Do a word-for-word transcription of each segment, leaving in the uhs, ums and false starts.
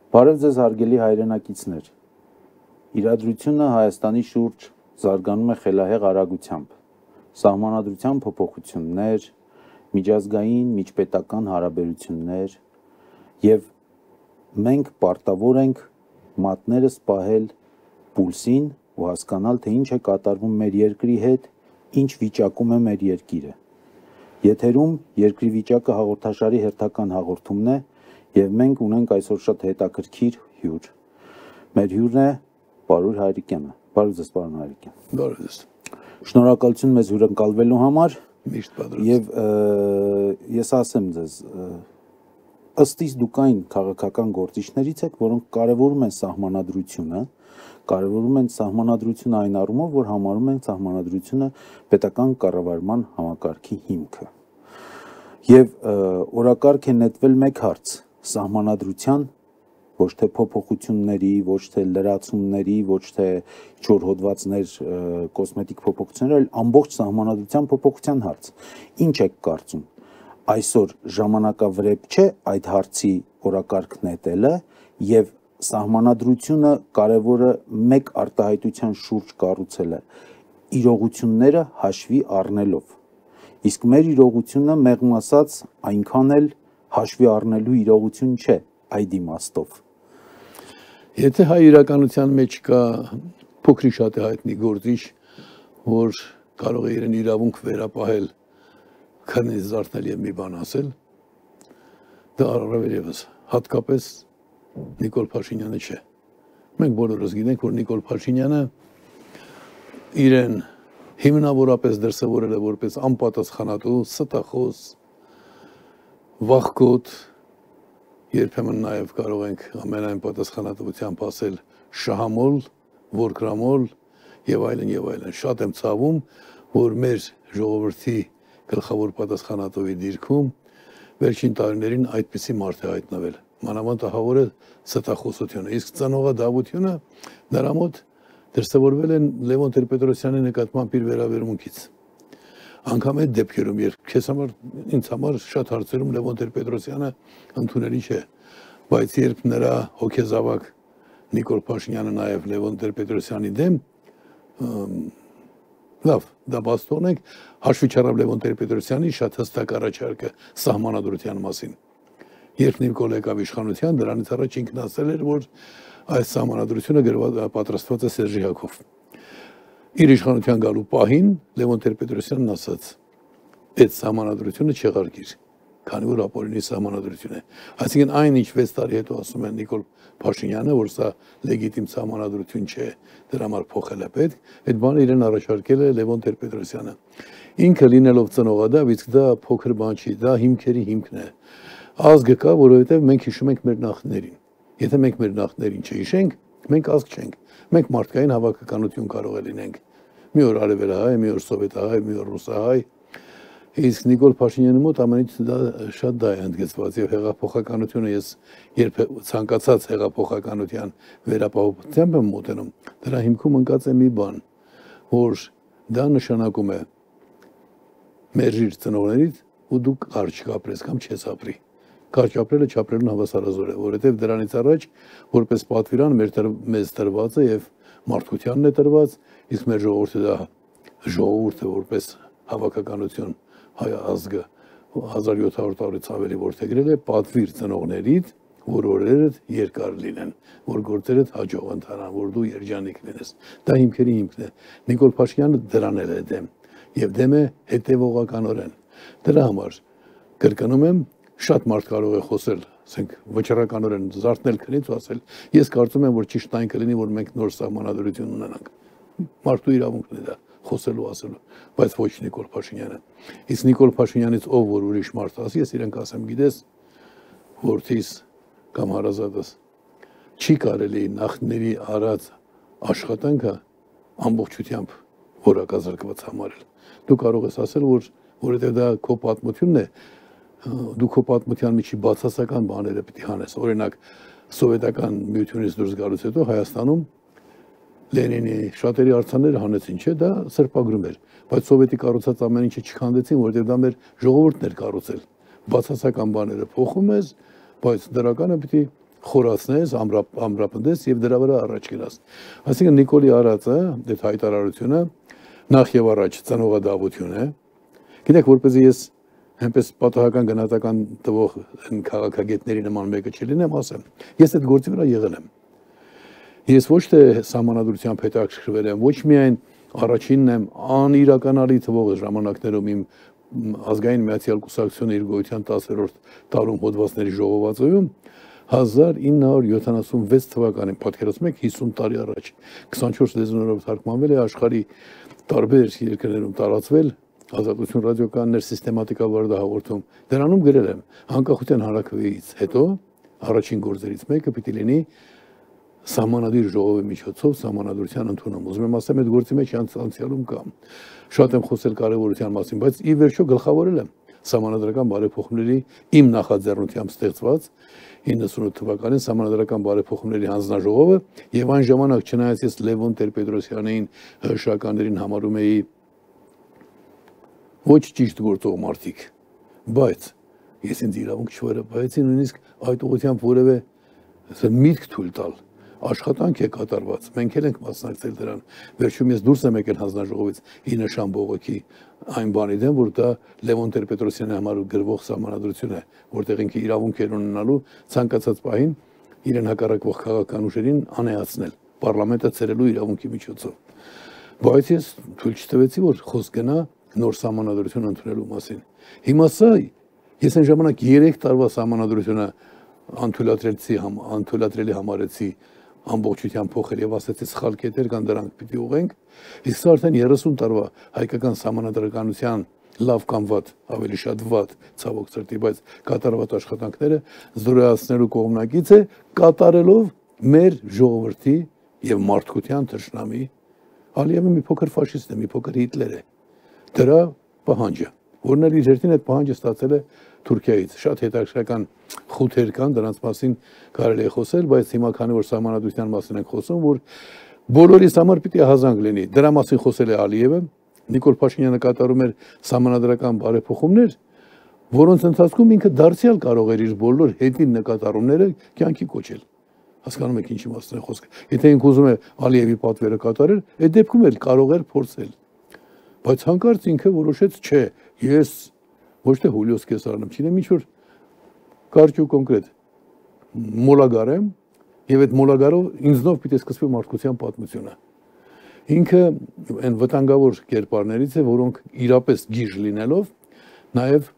Բարև ձեզ հարգելի հայրենակիցներ, իրադրությունը Հայաստանի շուրջ զարգանում է խելահեղ արագությամբ, սահմանադրության փոփոխություններ, միջազգային, միջպետական հարաբերություններ և մենք պարտավոր ենք մատներս պահել պուլսին ու հասկանալ, թե ինչ է կատարվում մեր երկրի հետ, ինչ վիճակում է մեր երկիրը։ Եթերում երկրի վիճակը հաղորդաշարի հերթական հաղորդումն է և մենք ունենք այսօր շատ հետաքրքիր հյուր։ Մեր հյուրն է Պարուր Հայրիկյանը։ Բարև ձեզ, պարոն Հայրիկյան։ Բարև ձեզ։ Շնորհակալություն մեզ հյուրընկալվելու համար։ Միշտ պատրաստ։ Եվ ես ասեմ ձեզ, ըստ իս դուք այն քաղաքական գործիչներից եք, որոնք կարևորում են սահմանադրությունը, կարևորում են սահմանադրությունը այն առումով, որ համարում են սահմանադրությունը պետական կառավարման համակարգի հիմքը։ Եվ օրակարգ է նետվել մեկ հարց՝ սահմանադրության, ոչ թե փոփոխությունների, ոչ թե լրացումների, ոչ թե ինչ-որ հոդվածներ, կոսմետիկ փոփոխություններ, այլ ամբողջ սահմանադրության փոփոխության հարց։ Ինչ եք կարծում, այսօր ժամանակավրեպ չէ այդ հարցի օրակարգ նետելը և սահմանադրությունը կարևորը մեկ արտահայտության շուրջ կառուցելը իրողությունները հաշվի առնելով, իսկ մեր իրողությունը մեղմ ասած այնքան էլ հաշվի առնելու իրողություն չէ այդ իմաստով։ Եթե հայ իրականության մեջ կա փոքրի շատ է հայտնի գործիչ, որ կարող է իրեն իրավունք վերապահել, քնից զարթնել և մի բան ասել, դա առավել ևս հատկապես Նիկոլ Փաշինյանը չէ։ Մենք բոլորս գիտենք, որ Նիկոլ Փաշինյանը իրեն հիմնավորապես դրսևորել է որպես անպատասխանատու, ստախոս, վախկոտ, երբեմն նաև կարող ենք ամենայն պատասխանատվությամբ ասել շահամոլ, որկրամոլ և այլն և այլն։ Շատ եմ ցավում, որ մեր ժողովրդի գլխավոր պատասխանատվի դիրքում վերջին տարիներին այդպիսի մարդ է հայտնվել։ Մանավանդ ահավոր է ստախոսությունը, իսկ ծնողադավությունը նրա մոտ դրսևորվել են Լևոն Տեր-Պետրոսյանի նկատմամբ իր վերաբերմունքից։ Անգամ այդ դեպքերում, երբ քեզ համար, ինձ համար շատ հարցերում Լևոն Տեր-Պետրոսյանը ընդունելի չէ, բայց երբ նրա հոգեզավակ Նիկոլ Փաշինյանը նաև Լևոն Տեր-Պետրոսյանի դեմ, լավ, դա բաց թողնենք, հաշվի չառավ Լևոն Տեր-Պետրոսյանի շատ հստակ առաջարկը սահմանադրության մասին։ Երբ Նիկոլ եկավ իշխանության, դրանից առաջ ինքն ասել էր, որ այս սահմանադրությունը պատրաստված է Սերժի Հակով։ Իր իշխանության գալու պահին Լևոն Տեր-Պետրոսյանն ասաց. այդ սահմանադրությունը չեղարկիր, քանի որ ապօրինի սահմանադրություն է։ Այսինքն այն, ինչ վեց տարի հետո ասում են Նիկոլ Փաշինյանը, որ սա լեգիտիմ սահմանադրություն չէ, դրա համար փոխել է պետք, այդ բանը իրեն առաջարկել է Լևոն Տեր-Պետրոսյանը։ Ինքը լինելով ծնողադավ, իսկ դա փոքր բան չի, դա հիմքերի հիմքն է։ Ազգը կա, որովհետև մենք հիշում ենք մեր նախնիներին։ Եթե մենք մեր նախնիներին չհիշենք, մենք ազգ չենք։ Մենք մարդկային հավաքականություն կարող է լինենք։ Մի օր արևելահայ, մի օր սովետահայ, մի օր ռուսահայ։ Իսկ Նիկոլ Փաշինյանի մոտ ամենից դա շատ դա է ընդգծված եւ հեղափոխականությունը ես երբ ցանկացած հեղափոխականության վերապահությամբ եմ մոտենում, դրա հիմքում ընկած է մի բան, որ դա նշանակում է մերժիր ծնողներից ու դու կարճ կապրես կամ չես ապրի։ Կարճ ապրելը չապրելուն հավասարազոր է, որովհետև դրանից առաջ որպես պատվիրան մեզ տրված է եւ մարդկությանն է տրված, իսկ մեր ժողովուրդը դա ժողովուրդը որպես հավաքականություն հայ ազգը հազար յոթ հարյուր տարուց ավելի որդեգրել է պատվիր ծնողներից, որ օրերդ երկար լինեն, որ գործերդ հաջող ընթանան, որ դու երջանիկ լինես։ Դա հիմքերի հիմքն է։ Նիկոլ Փաշինյանը դրան է դեմ եւ դեմ է հետեւողականորեն։ Դրա համար կրկնում եմ, շատ մարդ կարող է խոսել, ասենք վճռականորեն զարթնել քնից ու ասել, ես կարծում եմ, որ ճիշտ այն կլինի, որ մենք նոր սահմանադրություն ունենանք։ Մարդու իրավունքն է դա խոսելու ասելու, բայց ոչ Նիկոլ Փաշինյանը։ Իսկ Նիկոլ Փաշինյանից ով որ ուրիշ մարդ ասի, ես իրեն կասեմ, գիտես, որդիս կամ հարազատս, չի կարելի նախնիների արած աշխատանքը ամբողջությամբ որակազրկված համարել։ Դու կարող ես ասել, որ որովհետև դա քո պատմությունն է, դու քո պատմության միջի բացասական բաները պիտի հանես։ Օրինակ, սովետական միությունից դուրս գալուց հետո Հայաստանում Լենինի շատերի արձանները հանեցին, չէ, դա սրբագրում էր, բայց սովետի կառուցած ամեն ինչը չքանդեցին, որովհետև դա մեր ժողովուրդն էր կառուցել։ Բացասական բաները փոխում ես, բայց դրականը պիտի խորացնես, ամրապնդես եւ դրա վրա առաջ գնաս։ Այսինքն Նիկոլի արածը, այդ հայտարարությունը նախ եւ առաջ ծնողադավություն է։ Գիտեք, որպեսզի ես այնպես պատահական գնահատական տվող քաղաքագետների նման մեկը չլինեմ, ասեմ, ես այդ գործի վրա եղել եմ։ Ես ոչ թե սահմանադրությամբ հետաքրքրվել եմ, ոչ միայն առաջինն եմ անիրականալի թվող ժամանակներում իմ ազգային միացյալ կուսակցությունը իր գոյության տասերորդ տարում հոդվածների ժողովածոյում հազար ինը հարյուր յոթանասունվեց թվականին, պատկերացնում եք հիսուն տարի առաջ, քսանչորս լեզուներով թարգմանվել է, աշխարհի տարբեր երկրներում տարածվել, Ազատություն ռադիոկայաններ սիստեմատիկաբար դա հաղորդում, դրանում գրել եմ, անկախության հանրաքվեից հետո առաջին գործերից մեկը պիտի լինի սահմանադիր ժողովի միջոցով սահմանադրության ընդունում։ Ուզում եմ ասեմ, այդ գործի մեջ անցյալում կամ շատ եմ խոսել կարևորության մասին, բայց ի վերջո գլխավորել եմ սահմանադրական բարեփոխումների իմ նախաձեռնությամբ ստեղծված իննսունութ թվականին սահմանադրական բարեփոխումների հանձնաժողովը եւ այն ժամանակ չնայած ես Լևոն Տեր-Պետրոսյանին հրշականներին համարում էի ոչ ճիշտ գործող մարդիկ, բայց ես ինձ իրավունք չվերապահեցի նույնիսկ այդ ուղղությամբ որևէ միտք թույլ տալ աշխատանք է կատարված, մենք էլ ենք մասնակցել դրան, վերջում ես դուրս եմ եկել հանձնաժողովից ի նշան բողոքի այն բանի դեմ, որ դա Լևոն Տեր-Պետրոսյանի համար գրվող սահմանադրություն է, որտեղ ինքը իրավունք էր ունենալու ցանկացած պահին իրեն հակառակվող քաղաքական ուժերին անեացնել, պարլամենտը ցրելու իրավունքի միջոցով։ Բայց ես թույլ չտվեցի, որ խոսք գնա նոր սահմանադրություն ընդունելու մասին։ Հիմա սա ես այն ժամանակ երեք տարվա սահմանադրությունը անթույլատրելցի համ անթույլատրելի համարեցի ամբողջությամբ փոխել եւ ասացի սխալ կետեր կան դրանք պիտի ուղենք, իսկ սա արդեն երեսուն տարվա հայկական սահմանադրականության լավ կամ վատ, ավելի շատ վատ, ցավոք սրտի, բայց կատարված աշխատանքները զորացնելու կողմնակից է կատարելով մեր ժողովրդի եւ մարդկության թշնամի Ալիևը մի փոքր ֆաշիստ է, մի փոքր Հիտլեր է։ Դրա պահանջը, որն էլ իր հերթին այդ պահանջը ստացել է Թուրքիայից, շատ հետաքրքրական խութեր կան, դրանց մասին կարելի է խոսել, բայց հիմա քանի որ սահմանադրության մասին ենք խոսում, որ բոլորիս համար պիտի հազանգ լինի։ Դրա մասին խոսել է Ալիևը, Նիկոլ Փաշինյանը կատարում էր սահմանադրական բարեփոխումներ, որոնց ընթացքում ինքը դարձյալ կարող էր իր բոլոր հետին նկատառումները կյանքի կոչել։ Հասկանում եք ինչի մասին է խոսքը։ Եթե ինքը ուզում է Ալիևի պատվերը կատարել, այդ դեպքում էլ կարող էր փորձել։ Բայց հանկարծ ինքը որոշեց, չէ, ես ոչ թե Հուլիոս Կեսարն եմ, չինեմ ինչ որ կարճ ու կոնկրետ մոլագար եմ եւ այդ մոլագարով ինձնով պիտի սկսվի մարդկության պատմությունը։ Ինքը այն վտանգավոր կերպարներից է, որոնք իրապես գիժ լինելով նաեւ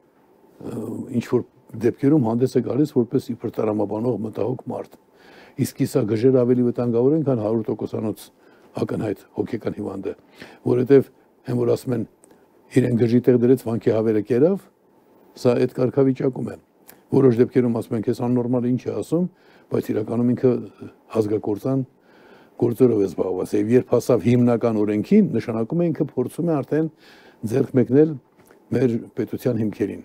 ինչ որ դեպքերում հանդես է գալիս որպես իբր տրամաբանող մտահոգ մարդ։ Իսկ իսա գժերը ավելի վտանգավոր են, քան հարյուր տոկոսանոց ակնհայտ հոգեկան հիվանդը, որովհետեւ հեն որ ասում են իրեն գժի տեղ դրեց վանքի հավերը կերավ, սա այդ կարգավիճակում է։ Որոշ դեպքերում ասում են, քեզ աննորմալ ինչ է ասում, բայց իրականում ինքը ազգակործան գործերով է զբաղված։ Եվ երբ հասավ հիմնական օրենքին, նշանակում է ինքը փորձում է արդեն ձեռք մեկնել մեր պետության հիմքերին։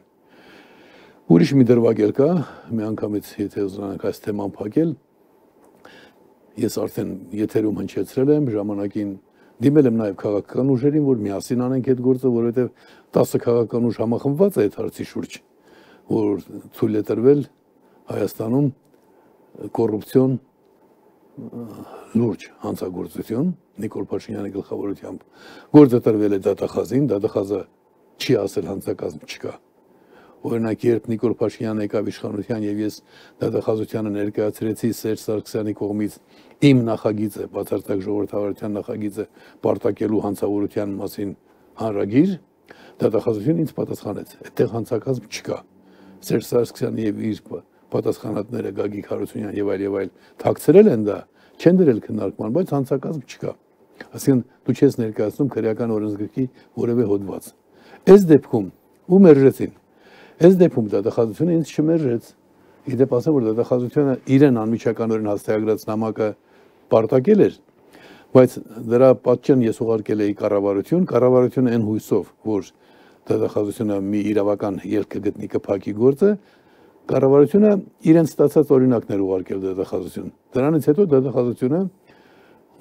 Ուրիշ մի դրվագ էլ կա, մի անգամից եթե ուզենանք այս թեման փակել, ես արդեն եթերում հնչեցրել եմ ժամանակին դիմել եմ նաև քաղաքական ուժերին, որ միասին անենք այդ գործը, որովհետև տասը քաղաքական ուժ համախմբված է այդ հարցի շուրջ, որ թույլ է տրվել Հայաստանում կոռուպցիոն լուրջ հանցագործություն Նիկոլ Փաշինյանի գլխավորությամբ գործը տրվել է դատախազին, դատախազը չի ասել հանցակազմ չկա։ Օրինակ, երբ Նիկոլ Փաշինյանը եկավ իշխանության եւ ես դատախազությանը ներկայացրեցի Սերժ Սարգսյանի կողմից իմ նախագիծը, բացարձակ ժողովրդավարության նախագիծը պարտակելու հանցավորության մասին հանրագիր, դատախազությունը ինձ պատասխանեց, այդտեղ հանցակազմ չկա։ Սերժ Սարգսյանը եւ իր պատասխանատները Գագիկ Հարությունյան եւ այլ եւ այլ թաքցրել են դա, չեն դրել քննարկման, բայց հանցակազմ չկա։ Այսինքն դու չես ներկայացնում քրեական օրենսգրքի որևէ հոդված։ Այս դեպքում ու մերժեցին։ Այս դեպքում դատախազությունը ինձ չմերժեց։ Իդեպ ասեմ, որ դատախազությունը իրեն անմիջականորեն հաստատագրած նամակը պարտակել էր, բայց դրա պատճեն ես ուղարկել էի կառավարություն, կառավարությունը այն հույսով, որ դատախազությունը մի իրավական ելք կգտնի կփակի գործը, կառավարությունը իրեն ստացած օրինակներ ուղարկել դատախազություն։ Դրանից հետո դատախազությունը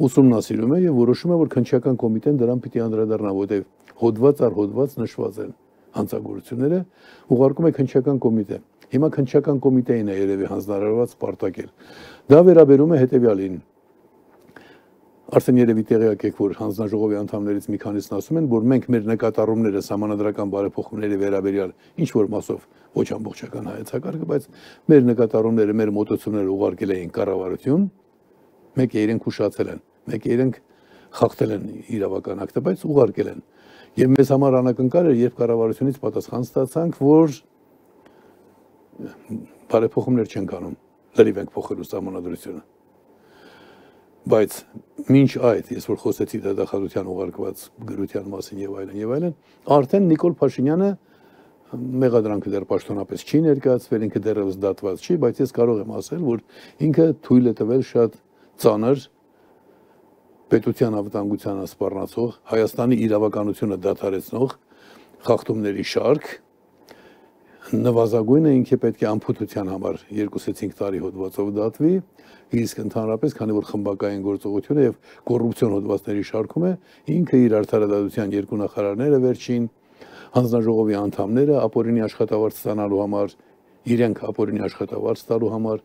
ուսումնասիրում է եւ որոշում է, որ քննչական կոմիտեն դրան պիտի անդրադառնա, որտեղ հոդված առ հոդված նշված են հանցագործությունները, ուղարկում է քննչական կոմիտե։ Հիմա քննչական կոմիտեին է երևի հանձնարարված պարտակել։ Դա վերաբերում է հետևյալին։ Արդեն երևի տեղյակ եք, որ հանձնաժողովի անդամներից մի քանիսն ասում են, որ մենք մեր նկատառումները սահմանադրական բարեփոխումների վերաբերյալ ինչ որ մասով ոչ ամբողջական հայեցակարգը, բայց մեր նկատառումները, մեր մոտեցումները ուղարկել էին կառավարություն, մեկը իրենք ուշացել են, մեկը իրենք խախտել են իրավական ակտը, բայց ուղարկել են։ Եվ մեզ համար անակնկալ էր, երբ կառավարությունից պատասխան ստացանք, որ բարեփոխումներ չենք անում, լրիվ ենք փոխելու սահմանադրությունը։ Բայց մինչ այդ, ես որ խոսեցի դատախազության ուղարկված գրության մասին եւ այլն եւ այլն, արդեն Նիկոլ Փաշինյանը մեղադրանքը դեռ պաշտոնապես չի ներկայացվել, ինքը դեռևս դատված չի, բայց ես կարող եմ ասել, որ ինքը թույլ է տվել շատ ծանր պետության անվտանգությանը սպառնացող, Հայաստանի իրավականությունը դադարեցնող խախտումների շարք, նվազագույնը ինքը պետք է անփութության համար երկուսից հինգ տարի հոդվածով դատվի, իսկ ընդհանրապես, քանի որ խմբակային գործողությունը եւ կոռուպցիոն հոդվածների շարքում է, ինքը իր արդարադատության երկու նախարարները վերջին հանձնաժողովի անդամները ապօրինի աշխատավարձ ստանալու համար, իրենք ապօրինի աշխատավարձ տալու համար,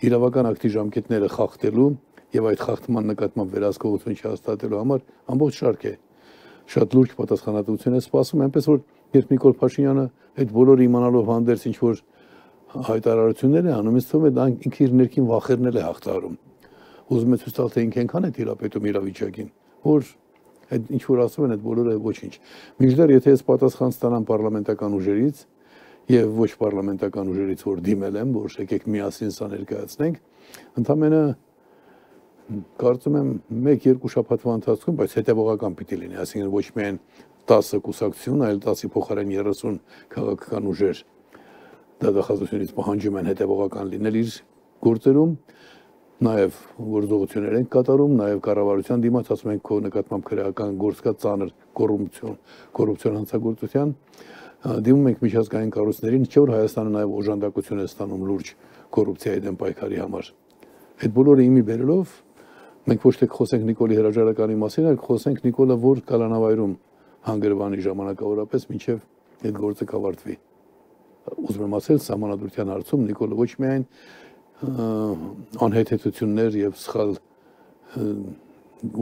իրավական ակտի ժամկետները խախտելու եւ այդ խախտման նկատմամբ վերահսկողություն չհաստատելու համար ամբողջ շարք է շատ լուրջ պատասխանատվություն է սպասում, այնպես որ երբ Նիկոլ Փաշինյանը այդ բոլորը իմանալով հանդերձ ինչ որ հայտարարություններ է անում, ինձ թվում է դա ինքը իր ներքին վախերն էլ է հաղթահարում։ Ուզում է ցույց տալ, թե ինքը այնքան է թիրապետում իրավիճակին, որ այդ ինչ որ ասում են, այդ բոլորը ոչինչ։ Մինչդեռ եթե ես պատասխան ստանամ պարլամենտական ուժերից եւ ոչ պարլամենտական ուժերից, որ դիմել եմ, որ եկեք միասին սա ներկայացնենք, ընդամենը կարծում եմ մեկ-երկու շաբաթվա ընթացքում, բայց հետևողական պիտի լինի, այսինքն ոչ միայն տասը կուսակցություն, այլ տասի փոխարեն երեսուն քաղաքական ուժեր դատախազությունից պահանջում են հետևողական լինել իր գործերում, նաև գործողություններ են կատարում, նաև կառավարության դիմաց ասում են քո նկատմամբ քրեական գործ կա ծանր կոռուպցիոն, կոռուպցիոն հանցագործության, դիմում ենք միջազգային կառույցներին, չէ՞ որ Հայաստանը նաև օժանդակություն է ստանում լուրջ կոռուպցիայի դեմ պայքարի համար։ Այդ բոլորը իմի բերելով մենք ոչ թե խոսենք Նիկոլի հրաժարականի մասին, այլ խոսենք Նիկոլը որ կալանավայրում հանգրվանի ժամանակավորապես մինչև այդ գործը կավարտվի։ Ուզում եմ ասել, սահմանադրության հարցում Նիկոլը ոչ միայն անհեթեթություններ եւ սխալ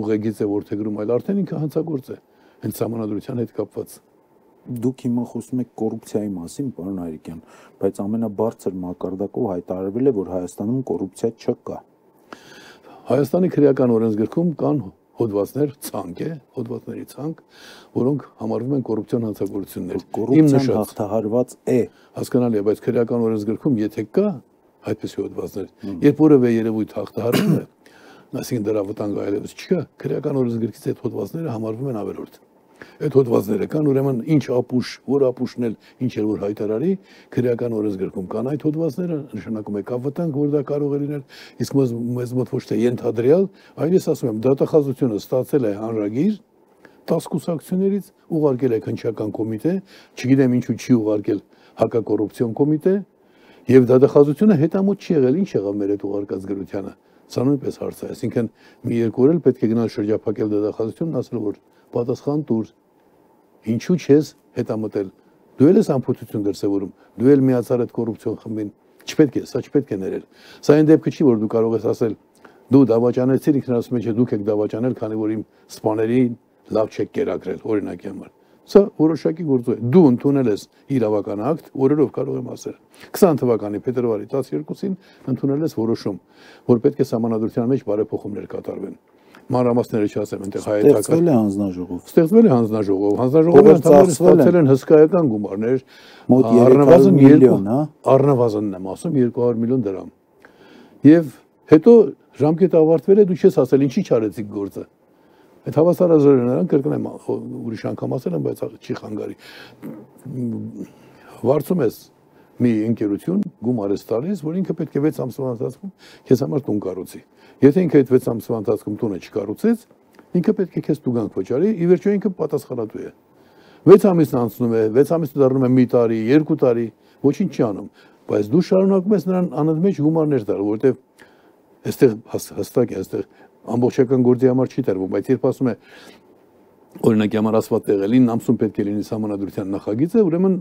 ուղեգիծ է որդեգրում, այլ արդեն ինքը հանցագործ է հենց սահմանադրության հետ կապված։ Դուք հիմա խոսում եք կոռուպցիայի մասին, պարոն Հայրիկյան, բայց ամենաբարձր մակարդակով հայտարարվել է, որ Հայաստանում կոռուպցիա չկա։ Հայաստանի քրեական օրենսգրքում կան հոդվածներ, ցանկ է, հոդվածների ցանկ, որոնք համարվում են կոռուպցիոն հանցագործություններ։ Կոռուպցիան հաղթահարված է, հասկանալի է, բայց քրեական օրենսգրքում եթե կա այդպիսի հոդվածներ, երբ որևէ երևույթ հաղթահարվում է, այսինքն դրա վտանգը այլևս չկա, քրեական օրենսգրքից այդ հոդվածները համարվում են ավելորդ։ Այդ հոդվածները կան, ուրեմն ինչ ապուշ, որ ապուշն էլ ինչ էլ որ հայտարարի, քրեական օրենսգրքում կան այդ հոդվածները, նշանակում է կա վտանգ, որ դա կարող է լինել, իսկ մեզ մոտ ոչ թե ենթադրյալ, այլ ես ասում եմ, դատախազությունը ստացել է հանրագիր տասը կուսակցություններից, ուղարկել է քննչական կոմիտե, չգիտեմ ինչու չի ուղարկել հակակոռուպցիոն կոմիտե, եւ դատախազությունը հետամուտ չի եղել, ինչ եղավ մեր այդ ուղարկած գրությանը։ Սա նույնպես հարց է, այսինքն մի երկու օր էլ պետք է գնալ շրջափակել դատախազությունն, ասել որ պատասխան տուր, ինչու չես հետամտել, դու էլ ես անփութություն դրսևորում, դու էլ միացար այդ կոռուպցիոն խմբին, չպետք է, սա չպետք է ներել։ Սա այն դեպքը չի, որ դու կարող ես ասել, դու դավաճանեցիր, ինքն ասում է, չէ, դուք եք դավաճանել, քանի որ իմ սպաներին լավ չեք կերակրել, օրինակի համար։ Սա որոշակի գործ է։ Դու ընդունել ես իրավական ակտ, օրերով կարող եմ ասել։ քսան թվականի փետրվարի տասներկուսին ընդունել ես որոշում, որ պետք է սահմանադրության մեջ բարեփոխումներ կատարվեն։ Մանրամասները չասեմ, այնտեղ հայեցական ստեղծվել է հանձնաժողով։ Ստեղծվել է հանձնաժողով, հանձնաժողովի անդամները ստացել են հսկայական գումարներ, մոտ երեք հարյուր միլիոն, հա։ Առնվազնն եմ ասում, երկու հարյուր միլիոն դրամ։ Եվ հետո ժամկետը ավարտվել է, դու չես ասել ինչի՞ չարեցիք գործը։ Այդ հավասարազորը նրան կրկնեմ, ուրիշ անգամ ասել եմ, բայց չի խանգարի։ Վարձում ես մի ընկերություն գումար ես տալիս, որ ինքը պետք է վեց ամսվա ընթացքում քեզ համար տուն կառուցի։ Եթե ինքը այդ վեց ամսվա ընթացքում տունը չկառուցեց, ինքը պետք է քեզ տուգանք վճարի, ի վերջո ինքը պատասխանատու է։ վեց ամիսն անցնում է, վեց ամիսը դառնում է մի տարի, երկու տարի, ոչինչ չի անում, բայց դու շարունակում ես նրան անընդմեջ գումարներ տալ, որովհետև այստեղ հստակ է, այստեղ ամբողջական գործի համար չի տրվում, բայց երբ ասում է օրինակի համար ասված տեղը լինի ամսում պետք է լինի սահմանադրության նախագիծը, ուրեմն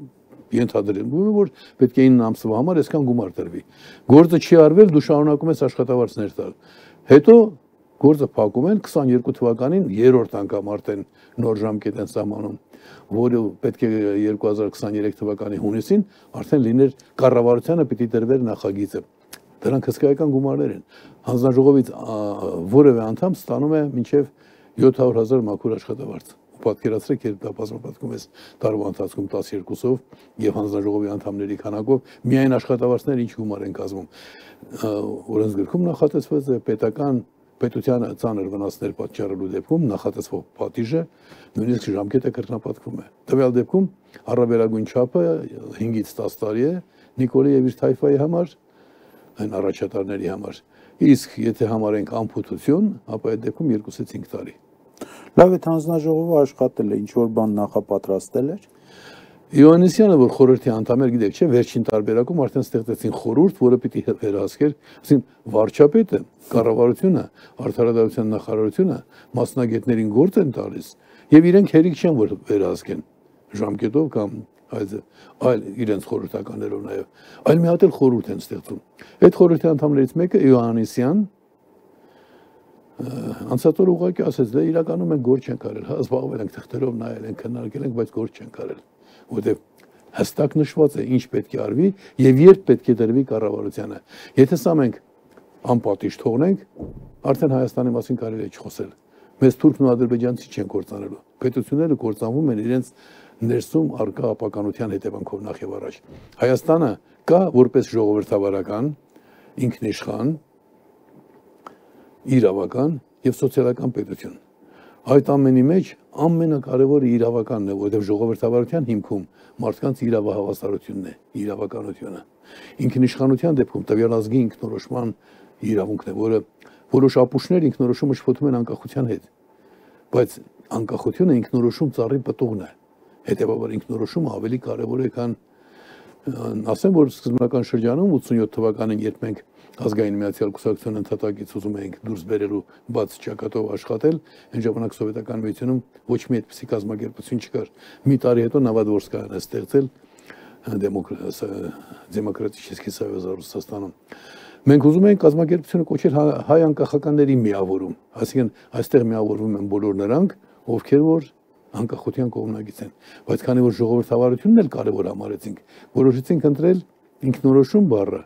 Ենթադրվում է, որ պետք է ինը ամսվա համար այսքան գումար տրվի։ Գործը չի արվել, դու շարունակում ես աշխատավարձներ տալ։ Հետո գործը փակում են քսաներկու թվականին երրորդ անգամ արդեն նոր ժամկետ են սահմանում, որը պետք է երկու հազար քսաներեք թվականի հունիսին արդեն լիներ կառավարությանը պիտի տրվեր նախագիծը։ Դրանք հսկայական գումարներ են։ Հանձնաժողովից որևէ անդամ ստանում է մինչև յոթ հարյուր հազար մաքուր աշխատավարձ։ Պատկերացրեք, երբ դա բազմապատկում ես տարվա ընթացքում տասներկուսով եւ հանձնաժողովի անդամների քանակով միայն աշխատավարձներ ինչ գումար են կազմում։ Օրենսգրքում նախատեսված է պետական պետությանը ծանր վնասներ պատճառելու դեպքում նախատեսվող պատիժը նույնիսկ ժամկետը կրկնապատկվում է։ Տվյալ դեպքում առավելագույն չափը հինգից տաս տարի է Նիկոլի եւ իր թայֆայի համար, այն առաջատարների համար։ Իսկ եթե համարենք անփութություն, ապա այդ դեպքում երկուսից հինգ տարի։ Լավ է, հանձնաժողովը աշխատել է, ինչ որ բան նախապատրաստել էր։ Իոաննիսյանը, որ խորհրդի անդամ էր, գիտեք, չէ, վերջին տարբերակում արդեն ստեղծեցին խորհուրդ, որը պիտի վերահսկեր, ասին վարչապետը, կառավարությունը, արդարադատության նախարարությունը մասնագետներին գործ են տալիս եւ իրենք հերիք չեն որ վերահսկեն ժամկետով կամ այլ իրենց խորհրդականներով նաեւ, այլ մի հատ էլ խորհուրդ են ստեղծում։ Այդ խորհրդի անդամներից մեկը Իոաննիսյան անցածօր ուղղակի ասեց, դե իրականում մենք գործ չենք արել, հա, զբաղվել ենք թղթերով նայել ենք, քննարկել ենք, բայց գործ չենք արել, որովհետև հստակ նշված է ինչ պետք է արվի եւ երբ պետք է դրվի կառավարությանը։ Եթե սա մենք անպատիժ թողնենք, արդեն Հայաստանի մասին կարելի է չխոսել։ Մեզ թուրքն ու ադրբեջանցի չեն կործանելու։ Պետությունները կործանվում են իրենց ներսում արկա ապականության հետևանքով նախ եւ առաջ։ Հայաստանը կա որպես ժողովրդավարական, ինքնիշխան, իրավական եւ սոցիալական պետություն։ Այդ ամենի մեջ ամենակարևորը իրավականն է, որովհետեւ ժողովրդավարության հիմքում մարդկանց իրավահավասարությունն է, իրավականությունը։ Ինքնիշխանության դեպքում տվյալ ազգի ինքնորոշման իրավունքն է, որը որոշ ապուշներ ինքնորոշումը շփոթում են անկախության հետ։ Բայց անկախությունը ինքնորոշում ծառի պտուղն է։ Հետևաբար ինքնորոշումը ավելի կարևոր է, քան ասեմ, որ սկզբնական շրջանում ութսունյոթ թվականին, երբ մենք ազգային միացյալ կուսակցության ընդհատակից ուզում էինք դուրս բերելու բաց ճակատով աշխատել, այն ժամանակ սովետական միությունում ոչ մի այդպիսի կազմակերպություն չկար։ Մի տարի հետո Նավադվորսկայան է ստեղծել Դեմոկրատический союз Ռուսաստանում։ Մենք ուզում էինք կազմակերպությունը կոչել հայ անկախականների միավորում, այսինքն այստեղ միավորվում են բոլոր նրանք, ովքեր որ անկախության կողմնակից են, բայց քանի որ ժողովրդավարությունն էլ կարևոր համարեցինք, որոշեցինք ընտրել ինքնորոշում բառը,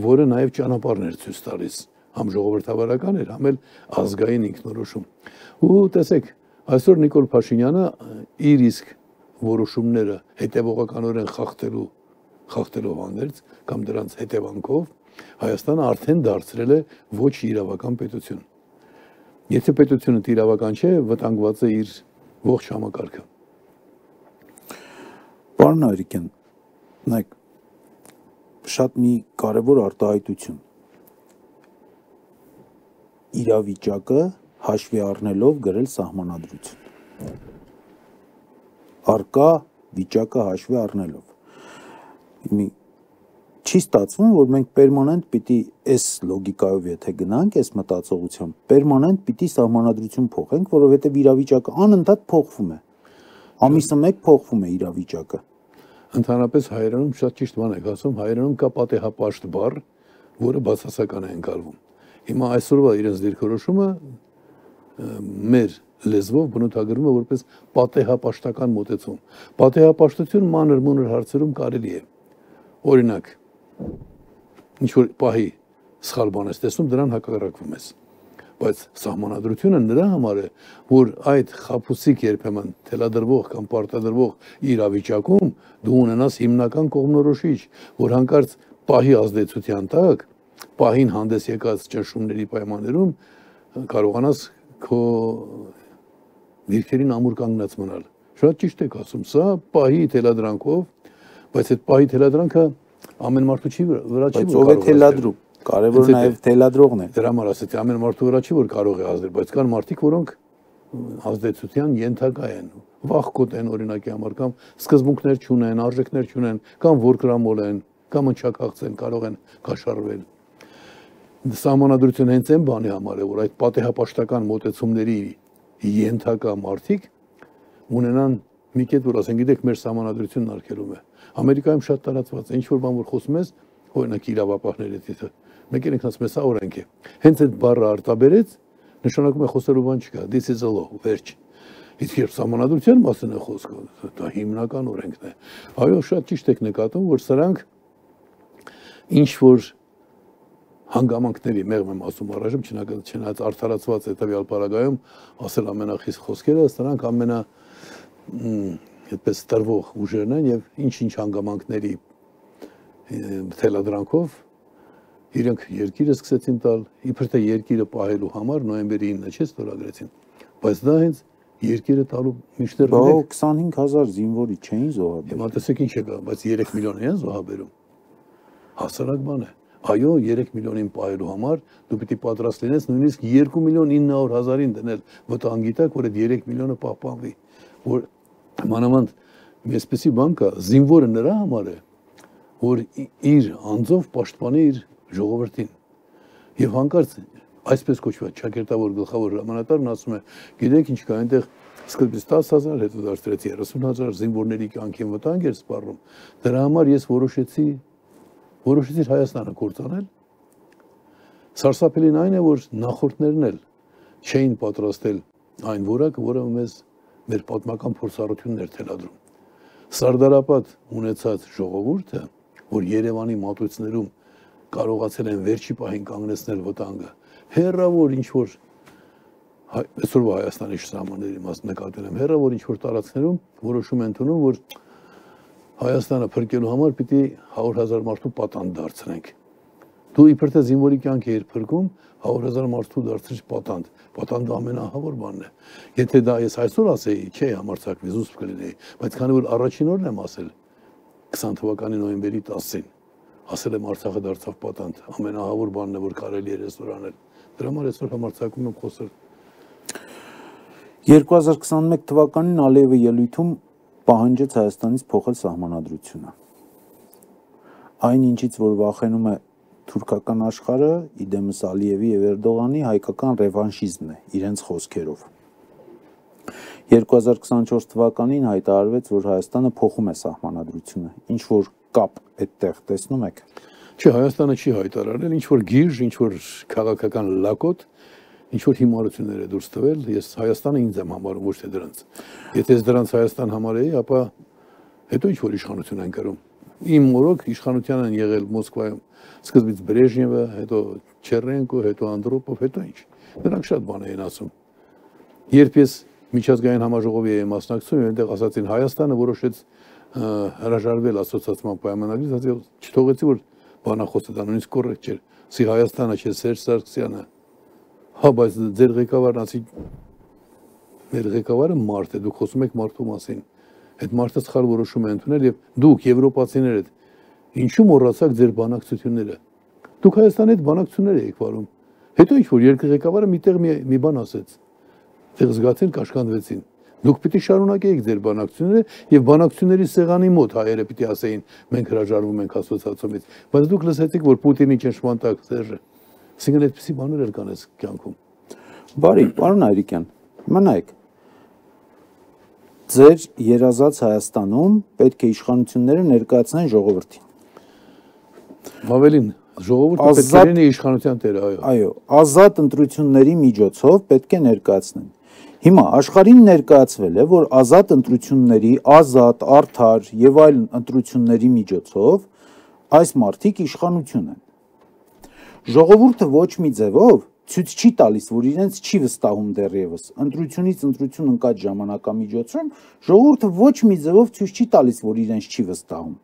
որը նաև ճանապարհներ ցույց տալիս, համ ժողովրդավարական էր, համ էլ ազգային ինքնորոշում։ Ու տեսեք, այսօր Նիկոլ Փաշինյանը իր իսկ որոշումները հետևողականորեն խախտելու խախտելով հանդերձ կամ դրանց հետևանքով Հայաստանը արդեն դարձրել է ոչ իրավական պետություն։ Եթե պետությունը իրավական չէ, վտանգված է իր ողջ համակարգը։ Պարոն Արիկյան, նայեք, շատ մի կարևոր արտահայտություն։ Իրավիճակը հաշվի առնելով գրել սահմանադրություն։ Արկա վիճակը հաշվի առնելով։ Մի չի ստացվում, որ մենք պերմանենտ պիտի այս լոգիկայով եթե գնանք, այս մտածողությամբ, պերմանենտ պիտի սահմանադրություն փոխենք, որովհետև իրավիճակը անընդհատ փոխվում է։ Ամիսը մեկ փոխվում է իրավիճակը։ Ընդհանրապես հայերենում շատ ճիշտ բան եք ասում, հայերենում կա պատեհապաշտ բառ, որը բացասական է ընկալվում։ Հիմա այսօրվա իրենց դիրքորոշումը մեր լեզվով բնութագրվում է որպես պատեհապաշտական մոտեցում։ Պատեհապաշտություն մանր-մունր հարցերում կարելի է։ Օրինակ, ինչ որ պահի սխալ բան ես տեսնում, դրան հակառակվում ես։ Բայց սահմանադրությունը նրա համար է, որ այդ խաբուսիկ երբեմն թելադրվող կամ պարտադրվող իրավիճակում դու ունենաս հիմնական կողմնորոշիչ, որ հանկարծ պահի ազդեցության տակ, պահին հանդես եկած ճնշումների պայմաններում կարողանաս քո դիրքերին ամուր կանգնած մնալ։ Շատ ճիշտ եք ասում, սա պահի թելադրանքով, բայց այդ պահի թելադրանքը ամեն մարդու չի վրա չի որ կարող է թելադրում, կարևորը նաև թելադրողն է։ Դրա համար ասեցի, ամեն մարդու վրա չի որ կարող է ազդել, բայց կան մարդիկ, որոնք ազդեցության ենթակա են, վախկոտ են օրինակի համար, կամ սկզբունքներ չունեն, արժեքներ չունեն, կամ որկրամոլ են, կամ ընչակաղց են, կարող են կաշառվել։ Սահմանադրությունը հենց այն բանի համար է, որ այդ պատեհապաշտական մոտեցումների ենթակա մարդիկ ունենան մի կետ որ ասեն, գիտեք, մեր սահմանադրությունն արգելում է։ Ամերիկայում շատ տարածված է, ինչ որ բան որ խոսում ես, օրինակ իրավապահների հետ, մեկ էլ ինքնաց մեզ սա օրենք է։ Հենց այդ բառը արտաբերեց, նշանակում է խոսելու բան չկա, this is a law, վերջ։ Իսկ երբ սահմանադրության մասին է խոսքը, դա հիմնական օրենքն է։ Այո, շատ ճիշտ եք նկատում, որ սրանք ինչ որ հանգամանքների մեղմ եմ ասում առայժմ, չնայած արդարացված հետևյալ պարագայում ասել ամենախիստ խոսքերը, սրանք ամենա այդպես տրվող ուժերն են եւ ինչ-ինչ հանգամանքների թելադրանքով իրենք երկիրը սկսեցին տալ, իբր թե երկիրը պահելու համար նոյեմբերի ինը չէ ստորագրեցին, բայց դա հենց երկիրը տալու միշտեր բա քսանհինգ հազար զինվորի չէին զոհաբերում։ Հիմա տեսեք ինչ եկա, բայց երեք միլիոն են զոհաբերում։ Հասարակ բան է։ Այո, երեք միլիոնին պահելու համար դու պիտի պատրաստ լինես նույնիսկ երկու միլիոն ինը հարյուր հազարին դնել վտանգի տակ, որ այդ երեք միլիոնը պահպանվի, որ մանավանդ մի այսպիսի բան կա, զինվորը նրա համար է, որ իր անձով պաշտպանի իր ժողովրդին։ Եվ հանկարծ այսպես կոչված ճակերտավոր գլխավոր հրամանատարն ասում է, գիտեք ինչ կա, այնտեղ սկզբից տասը հազար, հետո դարձրեց երեսուն հազար զինվորների կյանքին վտանգ էր սպառնում։ Դրա համար ես որոշեցի որոշեցի Հայաստանը կործանել։ Սարսափելին այն է, որ նախորդներն էլ չէին պատրաստել այն որակը, որը մեզ մեր պատմական փորձառությունն էր թելադրում։ Սարդարապատ ունեցած ժողովուրդը, որ Երևանի մատույցներում կարողացել են վերջի պահին կանգնեցնել վտանգը, հեռավոր ինչ որ այսօրվա Հայաստանի սահմանների մաս նկատել եմ, հեռավոր ինչ որ տարածքներում որոշում են ընդունում, որ Հայաստանը փրկելու համար պիտի հարյուր հազար մարդու պատանդ դարձնենք։ Դու իբր թե զինվորի կյանքի էր փրկում, հարյուր հազար մարդու դարձրիչ պատանդ։ Պատանդը ամենահավոր բանն է։ Եթե դա ես այսօր ասեի, չէ, համարձակվի, զուսպ կլինեի, բայց քանի որ առաջին օրն եմ ասել քսան թվականի նոյեմբերի տասին, ասել եմ Արցախը դարձավ պատանդ, ամենահավոր բանն է, որ կարելի է այսօր անել։ Դրա համար այսօր համարձակվում եմ խոսել։ երկու հազար քսանմեկ թվականին Ալիևը ելույթում պահանջեց Հայաստանից փոխել սահմանադրությունը։ Այն ինչից որ վախենում է թուրքական աշխարհը, իդեմս Ալիևի եւ Էրդողանի հայկական ռևանշիզմն է իրենց խոսքերով։ երկու հազար քսանչորս թվականին հայտարարվեց, որ Հայաստանը փոխում է սահմանադրությունը։ Ինչ որ կապ այդտեղ տեսնում եք։ Չէ, Հայաստանը չի հայտարարել, ինչ որ գիրժ, ինչ որ քաղաքական լակոտ, ինչ որ հիմարություններ է դուրս տվել, ես Հայաստանը ինձ եմ համարում, ոչ թե դրանց։ Եթե ես դրանց Հայաստան համարեի, ապա հետո ինչ որ իշխանություն են կրում։ Իմ մորոք իշխանության են եղել Մոսկվայում սկզբից Բրեժնևը, հետո Չերենկո, հետո Անդրոպով, հետո ինչ։ Նրանք շատ բան էին ասում։ Երբ ես միջազգային համաժողովի էի մասնակցում, այնտեղ ասացին Հայաստանը որոշեց հրաժարվել ասոցիացիան պայմանագրից, չթողեցի որ բանախոսը դա նույնիսկ կոռեկտ չէր։ Սի Հայաստանը չէ, Սերժ Սարգսյանը։ Հա, բայց ձեր ղեկավարն ասի մեր ղեկավարը մարդ է, դուք խոսում եք մարդու մասին։ Այդ մարդը սխալ որոշում է ընդունել եւ դուք եվրոպացիներդ ինչու մոռացաք ձեր բանակցությունները։ Դուք Հայաստանի հետ բանակցություններ եք վարում։ Հետո ինչ որ երկրի ղեկավարը միտեղ մի, մի բան ասեց։ Դեռ զգացին կաշկանդվեցին։ Դուք պիտի շարունակեիք ձեր բանակցությունները եւ բանակցությունների սեղանի մոտ հայերը պիտի ասեին մենք հրաժարվում ենք ասոցիացիայից, բայց դուք լսեցիք որ Պուտինի ճնշման տակ Սերժը։ Այսինքն այդպեսի բաներ էր կանես կյանքում։ Բարի, պարոն Այրիկյան, մնայեք։ Ձեր երազած Հայաստանում պետք է իշխանությունները ներկայացնեն ժողովրդին։ Ավելին, ժողովուրդը պետք է լինի իշխանության տերը, այո։ Այո, ազատ ընտրությունների միջոցով պետք է ներկայացնեն։ Հիմա աշխարհին ներկայացվել է, որ ազատ ընտրությունների, ազատ, արդար եւ այլ ընտրությունների միջոցով այս մարդիկ իշխանություն են։ Ժողովուրդը ոչ մի ձևով ցույց չի տալիս, որ իրենց չի վստահում դեռևս։ Ընտրությունից ընտրություն ընկած ժամանակամիջոցում ժողովուրդը ոչ մի ձևով ցույց չի տալիս, որ իրենց չի վստահում։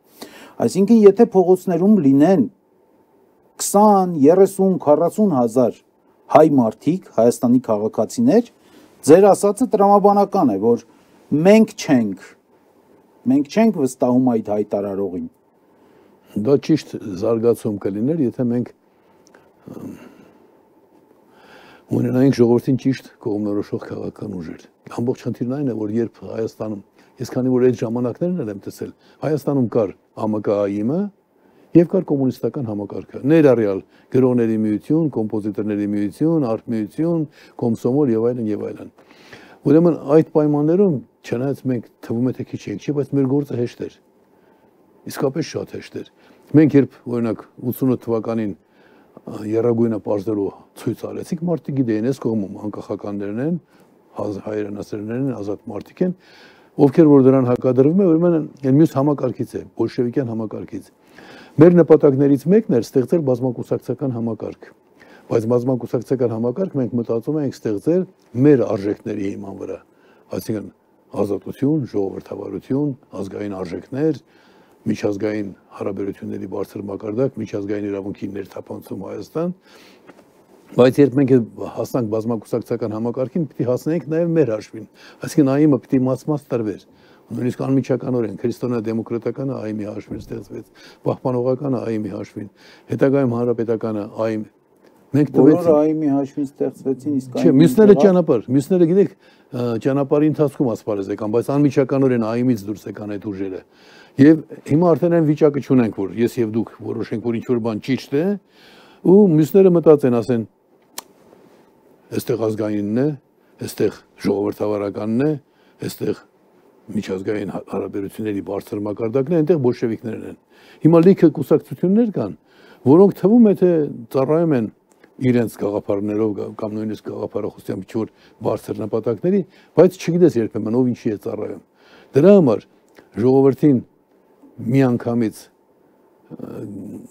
Այսինքն, եթե փողոցներում լինեն քսան, երեսուն, քառասուն հազար հայ մարդիկ, Հայաստանի քաղաքացիներ, ձեր ասածը տրամաբանական է, որ մենք չենք, մենք չենք վստահում այդ հայտարարողին։ Դա ճիշտ զարգացում կլիներ, եթե մենք ունենայինք ժողովրդին ճիշտ կողմնորոշող քաղաքական ուժեր։ Ամբողջ խնդիրն այն է, որ երբ Հայաստանում, ես քանի որ այդ ժամանակներն եմ տեսել, Հայաստանում կար Ա Մ Կ Ա Ի-ը եւ կար կոմունիստական համակարգը, ներառյալ գրողների միություն, կոմպոզիտորների միություն, արտ միություն, կոմսոմոլ եւ այլն եւ այլն, Ուրեմն այդ պայմաններում չնայած մենք թվում է թե քիչ ենք, չէ, բայց մեր գործը հեշտ էր։ Իսկապես շատ հեշտ էր։ Մենք երբ օրինակ ութսունութ թվականին Եռագույնը պարզելու ցույց արեցինք, մարդիկ գիտեին, այս կողմում անկախականներն են, հայրենասերներն են, ազատ մարդիկ են, ովքեր որ դրան հակադրվում են, ուրեմն այն մյուս համակարգից է, բոլշևիկյան համակարգից։ Մեր նպատակներից մեկն էր ստեղծել բազմակուսակցական համակարգ, բայց բազմակուսակցական համակարգ մենք մտածում ենք ստեղծել մեր արժեքների հիման վրա, այսինքն ազատություն, ժողովրդավարություն, ազգային արժեքներ, միջազգային հարաբերությունների բարձր մակարդակ, միջազգային իրավունքի ներթափանցում Հայաստան, բայց երբ մենք հասնանք բազմակուսակցական համակարգին, պիտի հասնենք նաև մեր հաշվին, այսինքն ԱԻՄ-ը պիտի մաս-մաս տրվեր, նույնիսկ անմիջականորեն քրիստոնեա-դեմոկրատականը ԱԻՄ-ի հաշվին ստեղծվեց, պահպանողականը ԱԻՄ-ի հաշվին, հետագայում հանրապետականը ԱԻՄ Մենք տվեցինք ԱԻՄ-ի հաշվին ստեղծվեցին, իսկ Չէ, մյուսները ճանապարհ, մյուսները գիտեք, ճանապարհի ընթացքում ասպարեզ եկան, բայց անմիջականորեն ԱԻՄ-ից դուրս եկան այդ ուժերը։ Եվ հիմա արդեն այն վիճակը չունենք, որ ես եւ դուք որոշենք, որ ինչ-որ բան ճիշտ է, ու մյուսները մտածեն, ասեն, այստեղ ազգայինն է, այստեղ ժողովրդավարականն է, այստեղ միջազգային հարաբերությունների բարձր մակարդակն է, այնտեղ բոլշևիկներն են։ Հիմա լիքը կուսակցություններ կան, որոնք թվում է թե ծառայում են իրենց գաղափարներով կամ նույնիսկ գաղափարախոսությամբ ինչ-որ բարձր նպատակների, բայց չգիտես երբեմն ով ինչի է ծառայում։ Դրա համար ժողովրդին միանգամից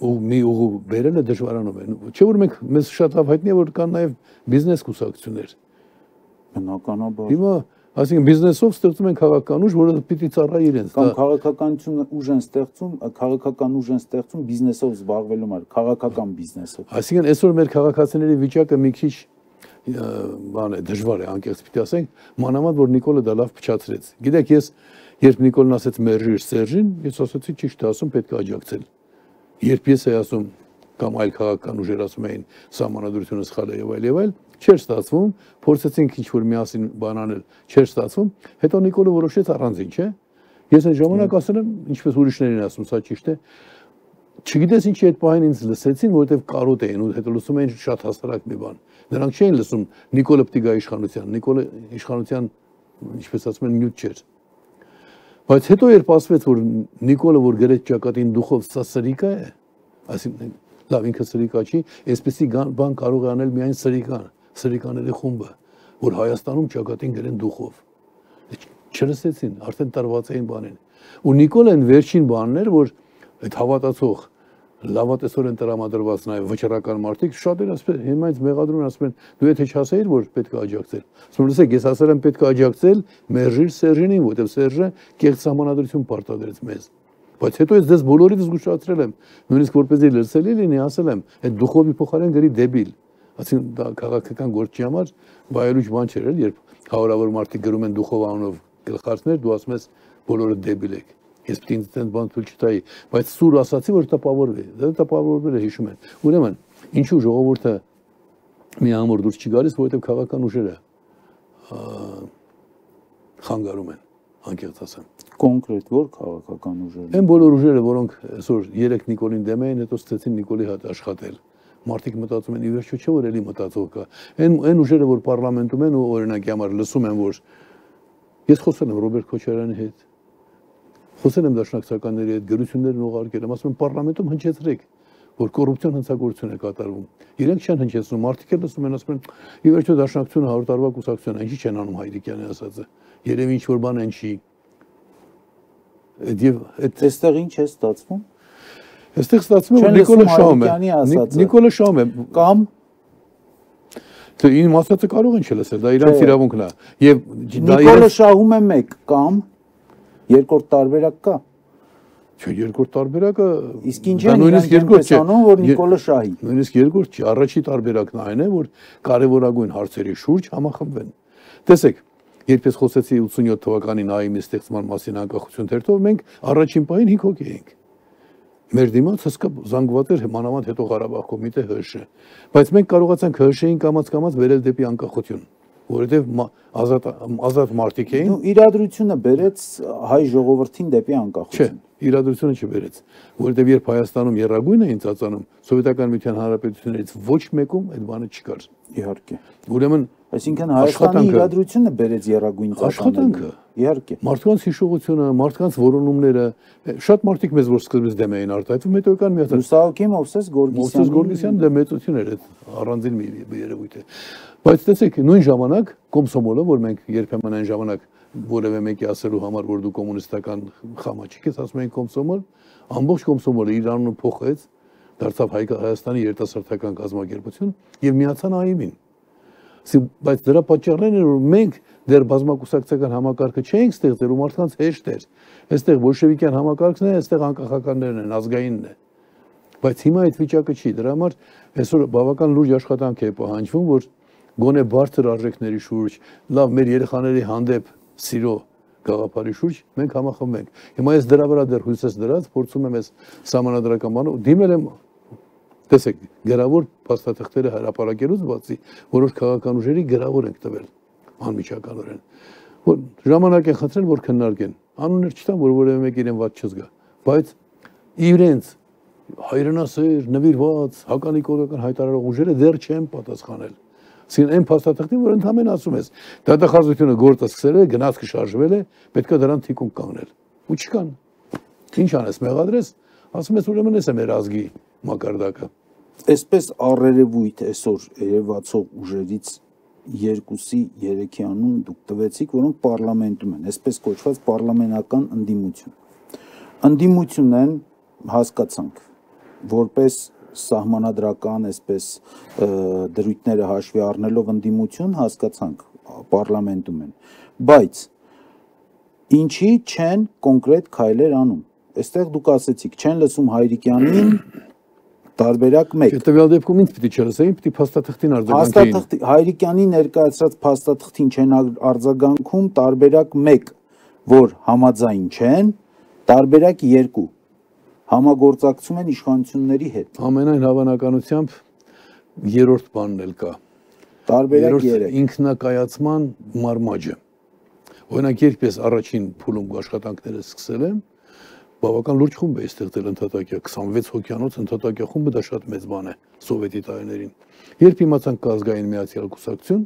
ու մի ուղու բերելը դժվարանում է։ Չէ՞ որ մենք մեզ շատ լավ հայտնի է, որ կան նաև բիզնես կուսակցություններ։ Բնականաբար։ Հիմա Այսինքն բիզնեսով ստեղծում են քաղաքական ուժ, որը պիտի ծառայի իրենց։ Կամ քաղաքականություն ուժ են ստեղծում, քաղաքական ուժ են ստեղծում բիզնեսով զբաղվելու համար, քաղաքական բիզնեսով։ Այսինքն այսօր մեր քաղաքացիների վիճակը մի քիչ բան է, դժվար է, անկեղծ պիտի ասենք, մանավանդ որ Նիկոլը դա լավ փչացրեց։ Գիտեք, ես երբ Նիկոլն ասեց մերժիր Սերժին, ես ասացի ճիշտ է ասում, պետք է աջակցել։ Երբ ես էի ասում կամ այլ քաղաքական ուժեր ասում էին սահմանադրությունը սխալ է եւ այլ եւ այլ, չէր ստացվում, փորձեցինք ինչ-որ միասին բան անել, չէր ստացվում, հետո Նիկոլը որոշեց առանձին, չէ՞։ Ես այն ժամանակ ասել եմ, ինչպես ուրիշներին ասում, սա ճիշտ է։ Չգիտես ինչի այդ պահին ինձ լսեցին, որովհետեւ կարոտ էին ու հետո լսում էին շատ հասարակ մի բան։ Նրանք չէին լսում Նիկոլը պիտի գա իշխանության, Նիկոլը իշխանության, ինչպես ասում են, նյութ չէր։ Բայց հետո երբ ասվեց, որ Նիկոլը որ գրեց ճակատին դուխով սա սրիկա է, այսինքն լավ ինքը սրիկա չի, այսպեսի բան կարող է անել միայն սրիկան, սրիկաների խումբը, որ Հայաստանում ճակատին գրեն դուխով։ Չլսեցին, արդեն տարված էին բանին։ Ու Նիկոլեն վերջին բանն էր, որ այդ հավատացող լավատեսորեն տրամադրված նաև վճռական մարդիկ շատ են ասում, հիմա ինձ մեղադրում են, ասում են, դու եթե չհասեիր, որ պետք է աջակցել։ Ասում եմ, լսեք, ես ասել եմ պետք է աջակցել մերժիր Սերժինին, որովհետև Սերժը կեղծ սահմանադրություն պարտադրեց մեզ։ Բայց հետո ես դες բոլորից զգուշացրել եմ, նույնիսկ որպեսզի լսելի լինի, ասել եմ, այդ դուխովի փոխարեն գրի դեբիլ։ Այսինքն դա քաղաքական գործի համար վայելուչ բան չէր, երբ հարյուրավոր մարդիկ գրում են դուխով անունով գլխարկներ, դու ասում ես բոլորը դեբիլ եք։ Ես պիտի ինձ այդպես բան թույլ չտայի, բայց սուր ասացի, որ տպավորվի։ Դա տպավորվել է, հիշում են։ Ուրեմն, ինչու ժողովուրդը մի ամոր դուրս չի գալիս, որովհետև քաղաքական ուժերը խանգարում են, անկեղծ ասեմ։ Կոնկրետ որ քաղաքական ուժեր։ Այն բոլոր ուժերը, որոնք այսօր երեք Նիկոլին դեմ էին, հետո ստեցին Նիկոլի հետ աշխատել։ Մարդիկ մտածում են, ի վերջո չէ որ էլի մտածող կա։ Այն այն ուժերը, որ պարլամենտում են ու օրինակի համար լսում են, որ ես խոսել եմ Ռոբերտ Քոչարյանի հետ, խոսել եմ դաշնակցականների հետ, գրություններն ուղարկել եմ, ասում եմ պարլամենտում հնչեցրեք, որ կոռուպցիոն հնցագործություն է կատարվում։ Իրենք չեն հնչեցնում, մարդիկ էլ լսում են, ասում են, ի վերջո դաշնակցությունը հարյուր տարվա կուսակցություն է, ինչի չեն անում Հայրիկյանի ասածը։ Երևի ինչ որ բան են չի։ Եվ այստեղ ինչ է ստացվում։ Այստեղ ստացվում է Նիկոլը շահում է։ Նիկոլը շահում է կամ թե իմ ասածը կարող են չլսել, դա իրանց իրավունքն է։ Եվ Նիկոլը շահում է մեկ կամ երկրորդ տարբերակ կա։ Չէ, երկրորդ տարբերակը իսկ ինչ է նույնիսկ երկրորդ չէ, որ Նիկոլը շահի։ Նույնիսկ երկրորդ չի, առաջի տարբերակն այն է, որ կարևորագույն հարցերի շուրջ համախմբվեն։ Տեսեք, երբ ես խոսեցի ութսունյոթ թվականին ԱԻՄ-ի ստեղծման մասին անկախություն թերթով, մենք առաջին պահին հինգ հոգի էինք։ Մեր դիմաց հսկա զանգված էր մանավանդ հետո Ղարաբաղ կոմիտե ՀՀՇ, բայց մենք կարողացանք ՀՀՇ-ին կամաց-կամաց վերել դեպի անկախություն, որովհետև ազատ ազատ մարդիկ էին։ Իրադրությունը բերեց հայ ժողովրդին դեպի անկախություն։ Չէ, իրադրությունը չբերեց, որովհետև երբ Հայաստանում եռագույն էին ծածանում, Սովետական Միության Հանրապետություններից ոչ մեկում այդ բանը չկար։ Իհարկե։ Ուրեմն Այսինքն Հայաստանի իրադրությունը բերեց եռագույն աշխատանքը, իհարկե։ Մարդկանց հիշողությունը, մարդկանց որոնումները, շատ մարդիկ մեզ որ սկզբից դեմ էին արտահայտվում, հետո եկան միացան։ Լուսահոգի Մովսես Գորգիսյանը։ Մովսես Գորգիսյանը դե մեծություն էր, այդ առանձին մի երևույթ է։ Բայց տեսեք, նույն ժամանակ Կոմսոմոլը, որ մենք երբեմն այն ժամանակ որևէ մեկի ասելու համար, որ դու կոմունիստական խամաչիկ ես, ասում էին Կոմսոմոլ, ամբողջ Կոմսոմոլը իր անունը փոխեց, դարձավ Հայաստանի երիտասարդական կազմակերպություն եւ միացան ԱԻՄ-ին։ Բայց դրա պատճառներն էր, որ մենք դեռ բազմակուսակցական համակարգը չէինք ստեղծել ու մարդկանց հեշտ էր։ Այստեղ բոլշևիկյան համակարգն է, այստեղ անկախականներն են, ազգայինն է։ Բայց հիմա այդ վիճակը չի, դրա համար այսօր բավական լուրջ աշխատանք է պահանջվում, որ գոնե բարձր արժեքների շուրջ, լավ մեր երեխաների հանդեպ սիրո գաղափարի շուրջ մենք համախմբենք։ Հիմա ես դրա վրա դեռ հույս ես դրած, փորձում եմ այս սահմանադրական բանը, դիմել եմ, տեսեք, գրավոր փաստաթղթերը հրապարակելուց բացի, որոշ քաղաքական ուժերի գրավոր ենք տվել անմիջականորեն, որ ժամանակ են խնդրել, որ քննարկեն, անուններ չտան, որ որևէ մեկ իրեն ված չզգա, բայց իրենց հայրենասեր, նվիրված, հականիկորական հայտարարող ուժերը դեռ չեն պատասխանել։ Այսինքն այն փաստաթղթին, որ ընդհանրապես ասում ես, դատախազությունը գործը սկսել է, գնացքը շարժվել է, պետք է դրան թիկունք կանգնել։ Ու չկան։ Ինչ անես, մեղադրես, ասում ես ուրեմն էս է մեր ազգի մակարդակը։ Այսպես առերևույթ այսօր երևացող ուժերից երկուսի, երեքի անուն դուք տվեցիք, որոնք պարլամենտում են, այսպես կոչված պարլամենական ընդդիմություն։ Ընդդիմություն են հասկացանք, որպես սահմանադրական, այսպես դրույթները հաշվի առնելով ընդդիմություն հասկացանք պարլամենտում են, բայց ինչի չեն կոնկրետ քայլեր անում։ Այստեղ դուք ասեցիք, չեն լսում Հայրիկյանին, տարբերակ մեկ։ Տվյալ դեպքում ինձ պիտի չլսեին, պիտի փաստաթղթին արձագանքեին։ Հայրիկյանի ներկայացրած փաստաթղթին չեն արձագանքում, տարբերակ մեկ, որ համաձայն չեն, տարբերակ երկու, համագործակցում են իշխանությունների հետ։ Ամենայն հավանականությամբ երրորդ բանն էլ կա։ Տարբերակ երեք։ Ինքնակայացման մարմաճը։ Օրինակ, երբ ես առաջին փուլում աշխատանքները սկսել եմ, բավական լուրջ խումբ է ստեղծել ընդհատակյա, քսանվեց հոգյանոց ընդհատակյա խումբը, դա շատ մեծ բան է սովետի տարիներին։ Երբ իմացանք կա ազգային միացյալ կուսակցություն,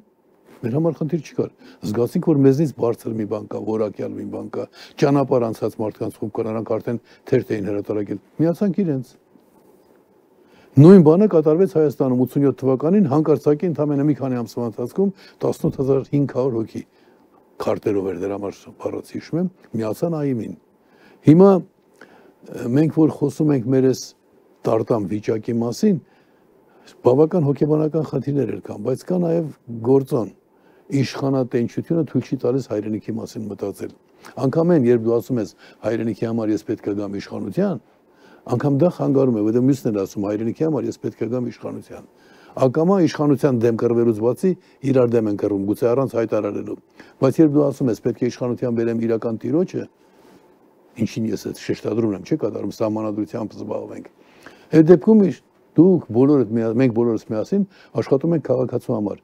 մեր համար խնդիր չկար։ Զգացինք, որ մեզնից բարձր մի բան կա, որակյալ մի բան կա, ճանապարհ անցած մարդկանց խումբ կան, նրանք արդեն թերթ էին հրատարակել։ Միացանք իրենց։ Նույն բանը կատարվեց Հայաստանում ութսունյոթ թվականին, հանկարծակի ընդամենը մի քանի ամսվա ընթացքում տասնութ հազար հինգ հարյուր հոգի քարտերով էր դրա համար բառացի հիշում եմ, միացան ԱԻՄ-ին։ Հիմա մենք որ խոսում ենք մեր այս տարտամ վիճակի մասին, բավական հոգեբանական խնդիրներ կան, բայց կա նաև գործոն, իշխանատենչությունը թույլ չի տալիս հայրենիքի մասին մտածել։ Անգամ այն, երբ դու ասում ես հայրենիքի համար ես պետք է գամ իշխանության, անգամ դա խանգարում է, որտեղ մյուսն էլ ասում հայրենիքի համար ես պետք է գամ իշխանության։ Ակամա իշխանության դեմ կռվելուց բացի իրար դեմ են կռվում, գուցե առանց հայտարարելու։ Բայց երբ դու ասում ես պետք է իշխանության բերեմ իրական տիրոջը, ինչին ես այդ շեշտադրում եմ, չէ՞ կատարում սահմանադրությամբ զբաղվենք։ Այդ դեպքում դուք բոլորդ մենք բոլորս միասին աշխատում ենք քաղաքացու համար։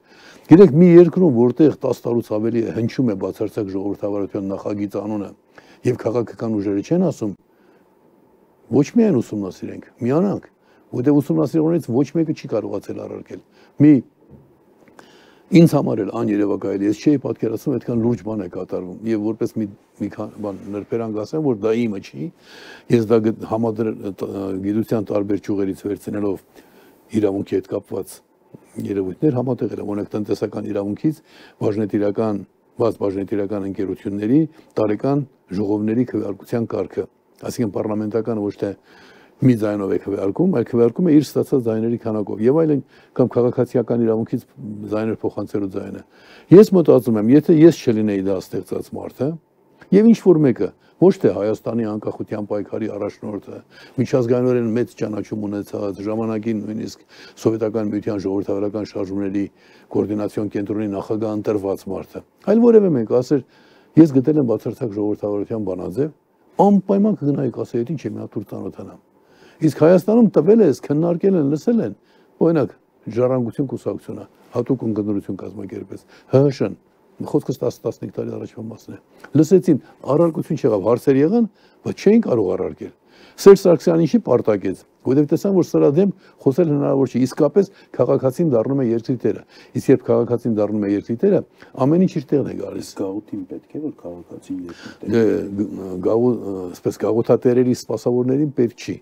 Գիտեք, մի երկրում, որտեղ տասը տարուց ավելի է հնչում է բացարձակ ժողովրդավարության նախագիծ անունը եւ քաղաքական ուժերը չեն ասում, ոչ միայն ուսումնասիրենք, միանանք, որտեղ ուսումնասիրողներից ոչ մեկը չի կարողացել առարկել։ Մի ինձ համար էլ աներևակայելի, ես չէի պատկերացնում այդքան լուրջ բան է կատարվում եւ որպես մի մի բան նրբերանգ ասեմ, որ դա իմը չի, ես դա գիտության տարբեր ճյուղերից վերցնելով իրավունքի հետ կապված երևույթներ համատեղել եմ, օրինակ տնտեսական իրավունքից բաժնետիրական, բաց բաժնետիրական ընկերությունների տարեկան ժողովների քվեարկության կարգը, այսինքն պարլամենտական ոչ թե մի ձայնով է քվեարկում, այլ քվեարկում է իր ստացած ձայների քանակով եւ այլն կամ քաղաքացիական իրավունքից ձայներ փոխանցելու ձայնը։ Ես մտածում եմ, եթե ես չլինեի դա ստեղծած մարդը եւ ինչ որ մեկը, ոչ թե Հայաստանի անկախության պայքարի առաջնորդը, միջազգայինորեն մեծ ճանաչում ունեցած, ժամանակին նույնիսկ սովետական միության ժողովրդավարական շարժումների կոորդինացիոն կենտրոնի նախագահ ընտրված մարդը, այլ որևէ մեկ ասեր, ես գտել եմ բացարձակ ժողովրդավարության բանաձև, անպայման կգնայի կասեի, ինչ եմ հատուր ծանոթանամ։ Իսկ Հայաստանում տվել է, քննարկել են, լսել են, օրինակ Ժառանգություն կուսակցությունը, հատուկ ընկերություն կազմակերպեց, ՀՀՇ-ն, խոսքս տասը-տասնհինգ տարի առաջվա մասն է։ Լսեցին, առարկություն չեղավ, հարցեր եղան, բայց չէին կարող առարկել։ Սերժ Սարգսյանը ինչի պարտակեց, Որովհետև տեսան, որ սրա դեմ խոսել հնարավոր չի, իսկապես քաղաքացին դառնում է երկրի տերը։ Իսկ երբ քաղաքացին դառնում է երկրի տերը, ամեն ինչ իր տեղն է գալիս։ Գաղութին պետք է որ քաղաքացին երկրի տերը։ Գաղութ, այսպես գաղութատերերի սպասավորներին պետք չի,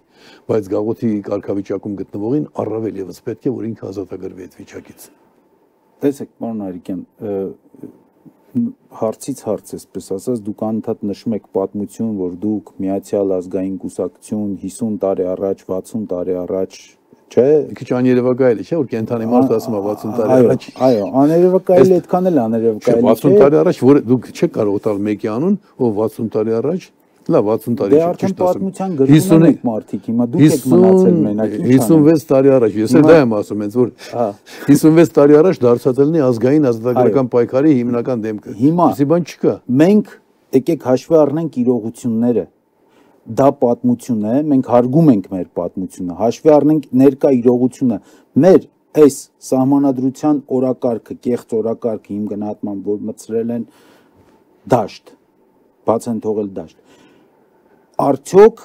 բայց գաղութի կարգավիճակում գտնվողին առավել եւս պետք է որ ինքը ազատագրվի այդ վիճակից։ Տեսեք, պարոն Արիկյան, հարցից հարց էսպես ասած, դուք անընդհատ նշում եք պատմություն, որ դուք Միացյալ ազգային կուսակցություն հիսուն տարի առաջ, վաթսուն տարի առաջ, չէ՞։ Մի քիչ աներևակայել է, չէ՞, որ կենթանի մարդ ասում է վաթսուն տարի առաջ։ Այո, աներևակայել այդքան էլ աներևակայել է։ վաթսուն տարի առաջ, որ դուք չեք կարող տալ մեկի անուն, ով վաթսուն տարի առաջ, լավ, վաթսուն տարի առաջ ճիշտ ասում։ Դե արդեն պատմության գրքում եք մարդիկ, հիմա դուք եք մնացել մենակ, ինչ հիսունվեց տարի առաջ, ես էլ դա եմ ասում, հենց որ հիսունվեց տարի առաջ դարձած լինի ազգային ազատագրական պայքարի հիմնական դեմքը։ Ինչի բան չկա։ Մենք եկեք հաշվի առնենք իրողությունները։ Դա պատմություն է, մենք հարգում ենք մեր պատմությունը, հաշվի առնենք ներկա իրողությունը։ Մեր այս սահմանադրության օրակարգը, կեղծ օրակարգը իմ գնահատմամբ, որ մտցրել են դաշտ, բաց են թողել դաշտ։ Արդյոք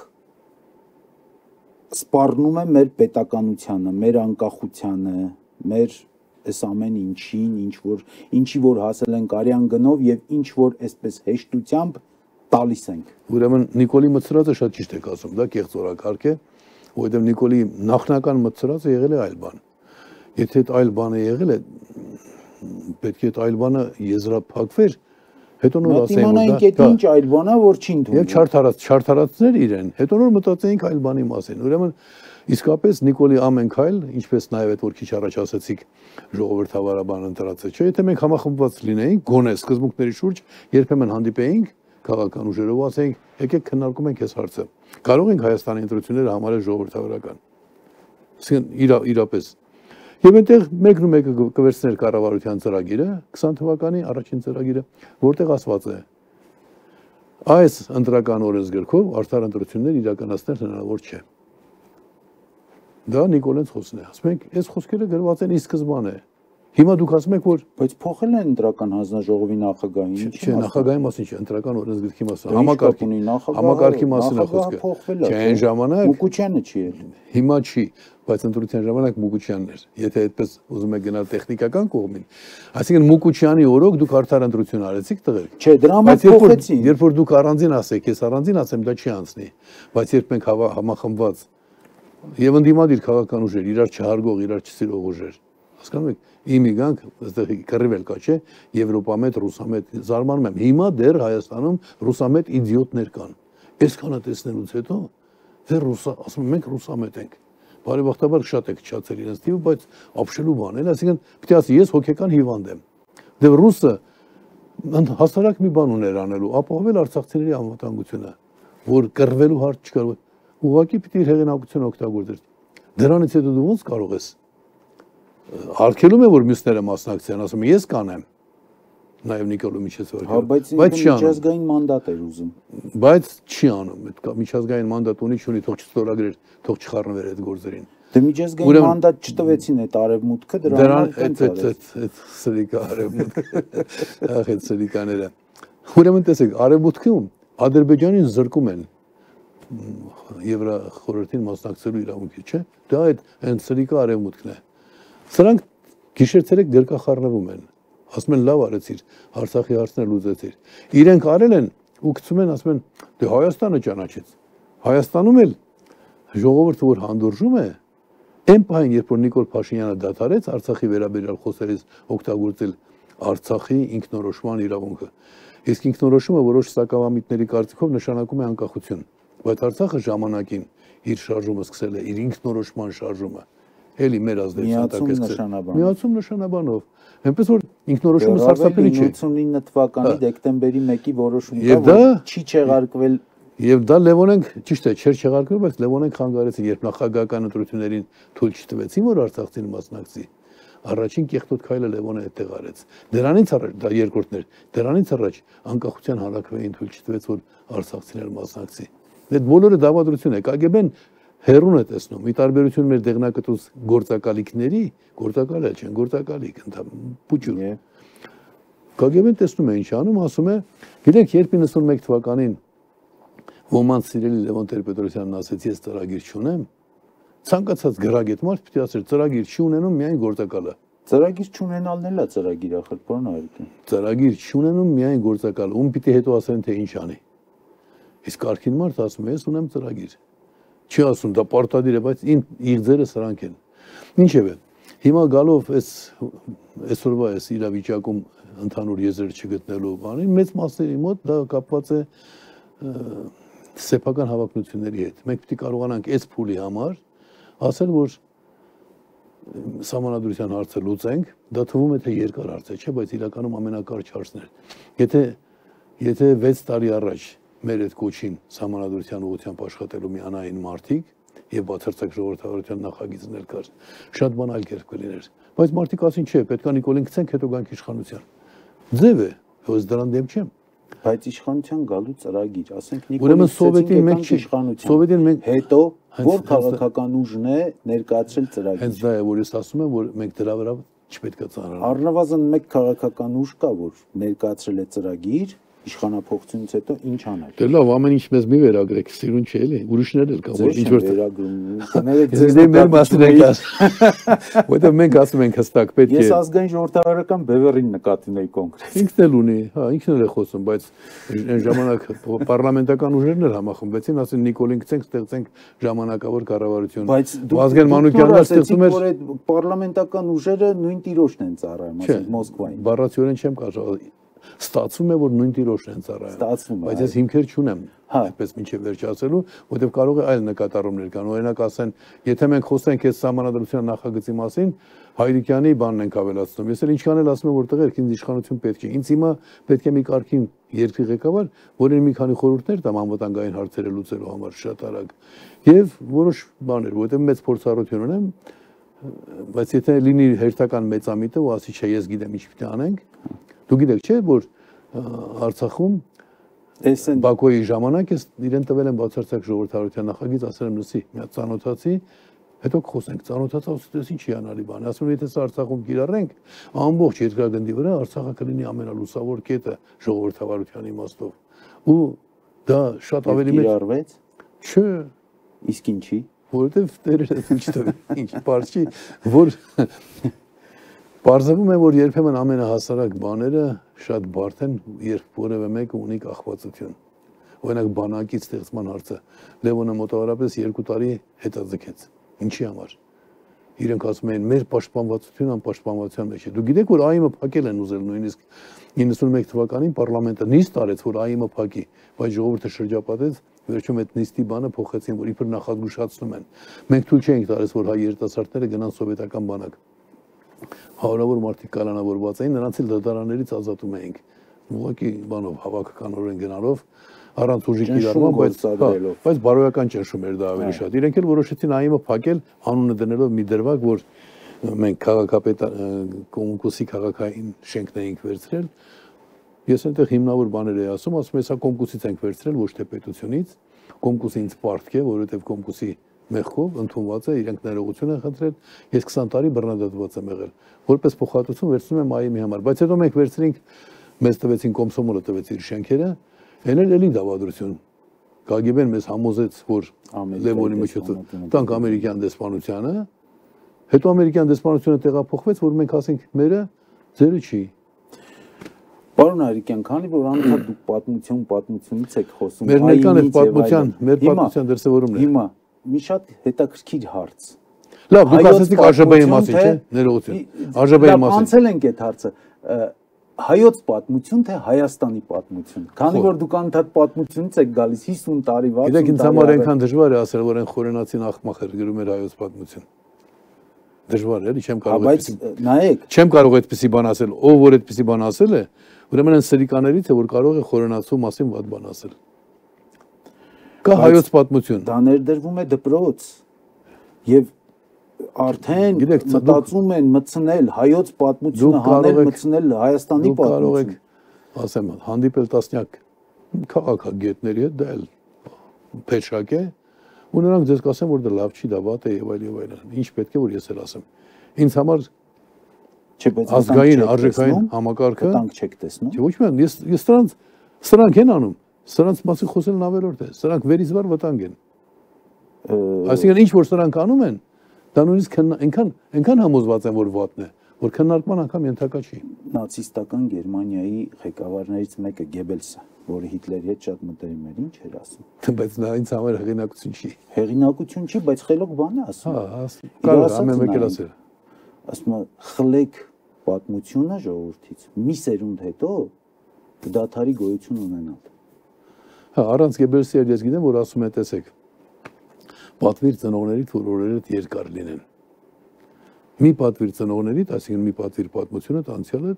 սպառնում է մեր պետականությանը, մեր անկախությանը, մեր այս ամեն ինչին, ինչ որ ինչի որ հասել ենք արյան գնով եւ ինչ որ այսպես հեշտությամբ տալիս ենք։ Ուրեմն Նիկոլի մտցրածը շատ ճիշտ եք ասում, դա կեղծ օրակարգ է, որովհետեւ Նիկոլի նախնական մտցրածը եղել է այլ բան։ Եթե այդ այլ բանը եղել է, պետք է այդ այլ բանը եզրափակվեր, հետո նոր ասենք որ դա ինչ այլ բան է, որ չի ընդունում։ Եվ չարթարած, չարթարածներ իրեն, հետո նոր մտածեինք այլ բանի մասին։ Ուրեմն իսկապես Նիկոլի ամեն քայլ, ինչպես նաև այդ որ քիչ առաջ ասացիք, ժողովրդավարաբան ընտրածը, չէ՞, եթե մենք համախմբված լինեինք, գոնե սկզբունքների շուրջ երբեմն հանդիպեինք քաղաքական ուժերով, ասենք, եկեք քննարկում ենք այս հարցը։ Կարող ենք Հայաստանի ընտրությունները համարել ժողովրդավարական։ Այսինքն իրապես Եվ այնտեղ մեկն ու մեկը կվերցներ կառավարության ծրագիրը, քսան թվականի առաջին ծրագիրը, որտեղ ասված է. այս ընտրական օրենսգրքով արդար ընտրություններ իրականացնել հնարավոր չէ։ Դա Նիկոլենց խոսքն է։ Ասում ենք, այս խոսքերը գրված են ի սկզբանե։ Հիմա դուք ասում եք, որ բայց փոխել են ընտրական հանձնաժողովի նախագահին, ինչ չէ, նախագահի մասին չէ, ընտրական օրենսգրքի մասին, համակարգի համակարգի մասին է խոսքը։ Չէ, այն ժամանակ Մուկուչյանը չի ել։ Հիմա չի, բայց ընտրության ժամանակ Մուկուչյանն էր։ Եթե այդպես ուզում եք գնալ տեխնիկական կողմին, այսինքն Մուկուչյանի օրոք դուք արդար ընտրություն արեցիք տղեր։ Չէ, դրա համար փոխեցին։ Երբ որ դուք առանձին ասեք, ես առանձին ասեմ, դա չի անցնի, բայց երբ մենք համախմբված եւ ընդդիմադիր քաղաքական ուժեր, իրար չհարգող, իրար չսիրող ուժեր, հասկանում եք, իմի գանք, այստեղ կռիվել կա, չէ, եվրոպամետ, ռուսամետ, զարմանում եմ։ Հիմա դեռ Հայաստանում ռուսամետ իդիոտներ կան։ Այսքանը տեսնելուց հետո դեռ ռուսա, ասում եմ, մենք ռուսամետ ենք։ Բարեբախտաբար շատ է քչացել իրենց տիպը, բայց ապշելու բան է, այսինքն պետք է ասի, ես հոգեկան հիվանդ եմ։ Դե ռուսը հասարակ մի բան ուներ անելու, ապահովել արցախցիների անվտանգությունը, որ կռվելու հարց չկար, ուղղակի պիտի իր հեղինակությունը օգտագործեր։ Դրանից հետո դու ոնց կարող ես արգելում է որ մյուսները մասնակցեն, ասում եմ ես կանեմ։ Նաև Նիկոլը միջազգային։ Հա, բայց միջազգային մանդատ էր ուզում։ Բայց չի անում, այդ միջազգային մանդատ ունի, չունի, թող չստորագրեր, թող չխառնվեր այդ գործերին։ Դե միջազգային մանդատ չտվեցին այդ արևմուտքը, դրան այդ այդ այդ սրիկա արևմուտքը։ Ահա այդ սրիկաները։ Ուրեմն տեսեք, արևմուտքում Ադրբեջանին զրկում են Եվրախորհրդին մասնակցելու իրավունքի, չէ՞։ Դա այդ այն սրիկա արևմուտքն է։ Սրանք գիշեր-ցերեկ գրկախառնվում են, ասում են լավ արեցիր, Արցախի հարցներ լուծեցիր։ Իրենք արել են ու գցում են, ասում են, դե Հայաստանը ճանաչեց։ Հայաստանում էլ ժողովուրդը որ հանդուրժում է, այն պահին, երբ որ Նիկոլ Փաշինյանը դադարեց Արցախի վերաբերյալ խոսերից օգտագործել Արցախի ինքնորոշման իրավունքը։ Իսկ ինքնորոշումը որոշ սակավամիտների կարծիքով նշանակում է անկախություն, բայց Արցախը ժամանակին իր շարժումը սկսել է, իր ինքնորոշման շարժումը։ Էլի մեր ազդեցության տակ է միացում նշանաբանով։ Այնպես որ ինքնորոշումը սարսափելի չէ։ ութսունինը թվականի դեկտեմբերի մեկի որոշումը կա, որ չի չեղարկվել։ Եվ դա Լևոնենք, ճիշտ է, չէր չեղարկվել, բայց Լևոնենք հանգարեցին, երբ նախագահական ընտրություններին թույլ չտվեցին, որ Արցախցին մասնակցի։ Առաջին կեղտոտ քայլը Լևոնը այդտեղ արեց։ Դրանից առաջ դա երկրորդն էր։ Դրանից առաջ անկախության հանրաքվեին թույլ չտվեց, որ Արցախցիներ մասնակցի։ Այդ բոլորը դավադրություն է։ կագեբեն հերուն է տեսնում, մի տարբերություն մեր դեղնակտուց գործակալիքների, գործակալ է չեն, գործակալիք, պուչուր։ կագեբեն տեսնում է ինչ անում, ասում է, գիտեք, երբ իննսունմեկ թվականին ոմանց սիրելի Լևոն Տեր-Պետրոսյանն ասեց, ես ծրագիր չունեմ, ցանկացած գրագետ մարդ պիտի ասեր ծրագիր չի ունենում միայն գործակալը։ Ծրագիր չունենալն էլ է ծրագիր ախր, բան այդքան։ Ծրագիր չունենում միայն գործակալը, ում պիտի հետո ասեն թե ինչ անի։ Իսկ արքին մարդ ասում է, ես ունեմ ծրագիր։ Չի ասում, դա պարտադիր է, բայց իր ձերը սրանք են։ Ինչևէ, հիմա գալով այս այսօրվա այս իրավիճակում ընդհանուր եզր չգտնելու բանին, մեծ մասերի մոտ դա կապված է սեփական հավակնությունների հետ։ Մենք պիտի կարողանանք այս փուլի համար ասել, որ սահմանադրության հարցը լուծենք, դա թվում է թե երկար հարց է, չէ, բայց իրականում ամենակարճ հարցն է։ Եթե եթե վեց տարի առաջ մեր այդ կոչին սահմանադրության ուղղությամբ աշխատելու միանային մարդիկ եւ բացարձակ ժողովրդավարության նախագիծներ կար, շատ բան այլ կերպ կլիներ։ Բայց մարդիկ ասին, չէ, պետք է Նիկոլին գցենք, հետո գանք իշխանության։ Ձև է, ոնց դրան դեմ չեմ։ Բայց իշխանության գալու ծրագիր, ասենք Նիկոլին Սովետին մենք իշխանության։ Սովետին մենք հետո որ քաղաքական ուժն է ներկայացրել ծրագիր։ Հենց դա է, որ ես ասում եմ, որ մենք դրա վրա չպետք է ծանրանանք։ Առնվազն մեկ քաղաքական ուժ կա, որ ներկայացրել է ծրագիր, իշխանափոխությունից հետո ինչ անել։ Դե լավ, ամեն ինչ մեզ մի վերագրեք, սիրուն չէ էլի, ուրիշներ էլ կա, որ ինչ որ վերագրում։ Կներեք ձեզ մեր մասին եք ասում։ Որտեղ մենք ասում ենք հստակ պետք է։ Ես ազգային ժողովրդավարական բևեռին նկատի ունեի կոնկրետ։ Ինքն էլ ունի, հա, ինքն էլ է խոսում, բայց այն ժամանակ պարլամենտական ուժերն էլ համախմբվեցին, ասին Նիկոլին գցենք, ստեղծենք ժամանակավոր կառավարություն։ Բայց Վազգեն Մանուկյանն ստեղծում էր, որ այդ պարլամենտական ուժերը նույն տիրոջն են ծառայում, ասենք Մոսկվային։ Բառացիորեն չեմ կարող ստացվում է, որ նույն տիրոջն են ծառայում։ Ստացվում է։ Բայց ես հիմքեր չունեմ, այդպես մինչև վերջացելու, որովհետև կարող է այլ նկատառումներ կան։ Օրինակ ասեն, եթե մենք խոսենք այս սահմանադրության նախագծի մասին, Հայրիկյանի բանն ենք ավելացնում։ Ես էլ ինչքան էլ ասում եմ, որ տղերք, ինձ իշխանություն պետք է։ Ինձ հիմա պետք է մի կարգին երկրի ղեկավար, որին մի քանի խորհուրդներ տամ անվտանգային հարցերը լուծելու համար շատ արագ։ Եվ որոշ բաներ, որովհետև մեծ փորձառություն ունեմ, բայց եթե լինի հերթական մեծամիտը ու ասի չէ, ես գիտեմ ինչ պիտի անենք, դու գիտեք չէ, որ Արցախում Բաքոյի ժամանակ ես իրեն տվել եմ բացարձակ ժողովրդավարության նախագիծ, ասել եմ լսի, մի հատ ծանոթացի, հետո խոսենք, ծանոթացա, ասես ինչի անալի բան, ասում եմ եթե սա Արցախում կիրառենք, ամբողջ երկրագնդի վրա Արցախը կլինի ամենալուսավոր կետը ժողովրդավարության իմաստով։ Ու դա շատ ավելի մեծ կիրառվեց։ Չէ։ Իսկ ինչի։ Որովհետև տերերը ինչ տվի, ինչ բարձ չի, որ Պարզվում է, որ երբեմն ամենահասարակ բաները շատ բարդ են, երբ որևէ մեկը ունի կախվածություն։ Օրինակ բանակի ստեղծման հարցը Լևոնը մոտավորապես երկու տարի հետաձգեց։ Ինչի համար։ Իրենք ասում էին մեր պաշտպանվածությունը անպաշտպանվածության մեջ է։ Դու գիտեք, որ ԱԻՄ-ը փակել են ուզել նույնիսկ իննսունմեկ թվականին պարլամենտը նիստ արեց, որ ԱԻՄ-ը փակի, բայց ժողովուրդը շրջապատեց, վերջում այդ նիստի բանը փոխեցին, որ իբր նախազգուշացնում են։ Մենք թույլ չէինք տալիս, որ հայ երիտասարդները գնան սովետական բանակ։ Հարյուրավոր մարդիկ կալանավորված էին, նրանց էլ դատարաններից ազատում էինք։ Ուղղակի բանով հավաքականորեն գնալով առանց ուժի կիրառման, բայց բայց բարոյական ճնշում էր դա ավելի շատ։ Իրենք էլ որոշեցին ԱԻՄ-ը փակել, անունը դնելով մի դրվագ, որ մենք քաղաքապետ կոմկուսի քաղաքային շենքն էինք վերցրել։ Ես այնտեղ հիմնավոր բաներ էի ասում, ասում եմ, սա կոմկուսից ենք վերցրել, ոչ թե պետությունից։ Կոմկուսը ինձ պարտք է, որովհետև կոմկուսի մեղքով ընդունված է, իրենք ներողություն են խնդրել, ես քսան տարի բռնադատված եմ եղել, որպես փոխհատուցում վերցնում եմ ԱԻՄ-ի համար, բայց հետո մենք վերցրինք, մեզ տվեցին Կոմսոմոլը տվեց իր շենքերը, այն էլ էլի դավադրություն։ Կագեբեն մեզ համոզեց, որ Լևոնի միջոցով տանք ամերիկյան դեսպանությանը, հետո ամերիկյան դեսպանությունը տեղափոխվեց, որ մենք ասենք մերը ձերը չի։ Պարոն Հայրիկյան, քանի որ անընդհատ դուք պատմություն պատմությունից եք խոսում, մեր ներկան այդ պատմության, մեր պատմության դրսևորումն է։ Հիմա մի շատ հետաքրքիր հարց։ Լավ, դուք ասեցիք ԱԺԲ-ի մասին, չէ՞, ներողություն։ ԱԺԲ-ի մասին։ Անցել ենք այդ հարցը։ Հայոց պատմություն թե Հայաստանի պատմություն։ Քանի որ դուք անընդհատ պատմությունից եք գալիս հիսուն տարի, վաթսուն տարի։ Գիտեք, ինձ համար այնքան դժվար է ասել, որ այն խորենացին աղմախեր գրում էր հայոց պատմություն։ Դժվար է, էլի չեմ կարող այդպես։ Բայց նայեք, չեմ կարող այդպեսի բան ասել, ով որ այդպեսի բան ասել է, ուրեմն այն սրիկաներից է, որ կարող է խորենացու մասին վատ բան ասել։ Կա հայոց պատմություն։ Դա ներդրվում է դպրոց եւ արդեն մտածում են մտցնել հայոց պատմությունը, հանել մտցնել Հայաստանի պատմությունը։ Դուք կարող եք, ասեմ, հանդիպել տասնյակ քաղաքագետների հետ, դա էլ փեշակ է, ու նրանք ձեզ կասեն, որ դա լավ չի, դա վատ է եւ այլ եւ այլն։ Ինչ պետք է որ ես էլ ասեմ։ Ինձ համար չէ, բայց ազգային արժեքային համակարգը տանք չեք տեսնում։ Չէ, ոչ միայն ես ես սրանց սրանք են անում, սրանց մասին խոսելն ավելորդ է, սրանք վերիզվար վտանգ են։ Այսինքն ինչ որ սրանք անում են, դա նույնիսկ այնքան այնքան համոզված են, որ վատն է, որ քննարկման անգամ ենթակա չի։ Նացիստական Գերմանիայի ղեկավարներից մեկը Գեբելսը, որը Հիտլերի հետ շատ մտերիմ էր, ինչ էր ասում։ Բայց նա ինձ համար հեղինակություն չի։ Հեղինակություն չի, բայց խելոք բան է ասում։ Հա, կարող է ամեն մեկը ասել։ Ասում է, խլեք պատմությունը ժողովրդից, մի սերունդ հետո դադարի գոյություն ունենալ։ Հա, առանց Գեբելսի ես գիտեմ, որ ասում է, տեսեք, պատվիր ծնողներիդ, որ օրերդ երկար լինեն։ Մի պատվիր ծնողներիդ, այսինքն մի պատվիր պատմությունը, անցյալը,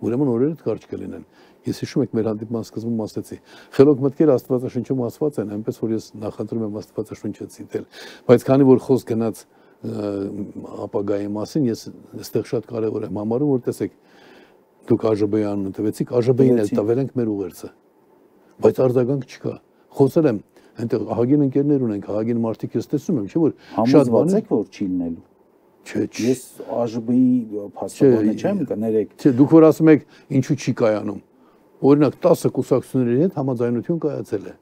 ուրեմն օրերդ կարճ կլինեն։ Ես հիշում եք մեր հանդիպման սկզբում ասացի, խելոք մտքերը Աստվածաշնչում ասված են, այնպես որ ես նախընտրում եմ Աստվածաշունչը ցիտել, բայց քանի որ խոսք գնաց ապագայի մասին, ես այստեղ շատ կարևոր եմ համարում, որ տեսեք, դուք ԱԺԲ-ի անունը տվեցիք, ԱԺԲ-ին էլ տվել ենք մեր ուղերձը, բայց արձագանք չկա։ Խոսել եմ, այնտեղ ահագին ընկերներ ունենք, ահագին մարդիկ ես տեսնում եմ, չէ՞ որ շատ բան եք որ չի լինելու։ Չէ, ես ԱԺԲ-ի փաստաբանը չեմ, կներեք։ Չէ, դուք որ ասում եք, ինչու չի կայանում։ Օրինակ տասը կուսակցությունների հետ համաձայնություն կայացել է։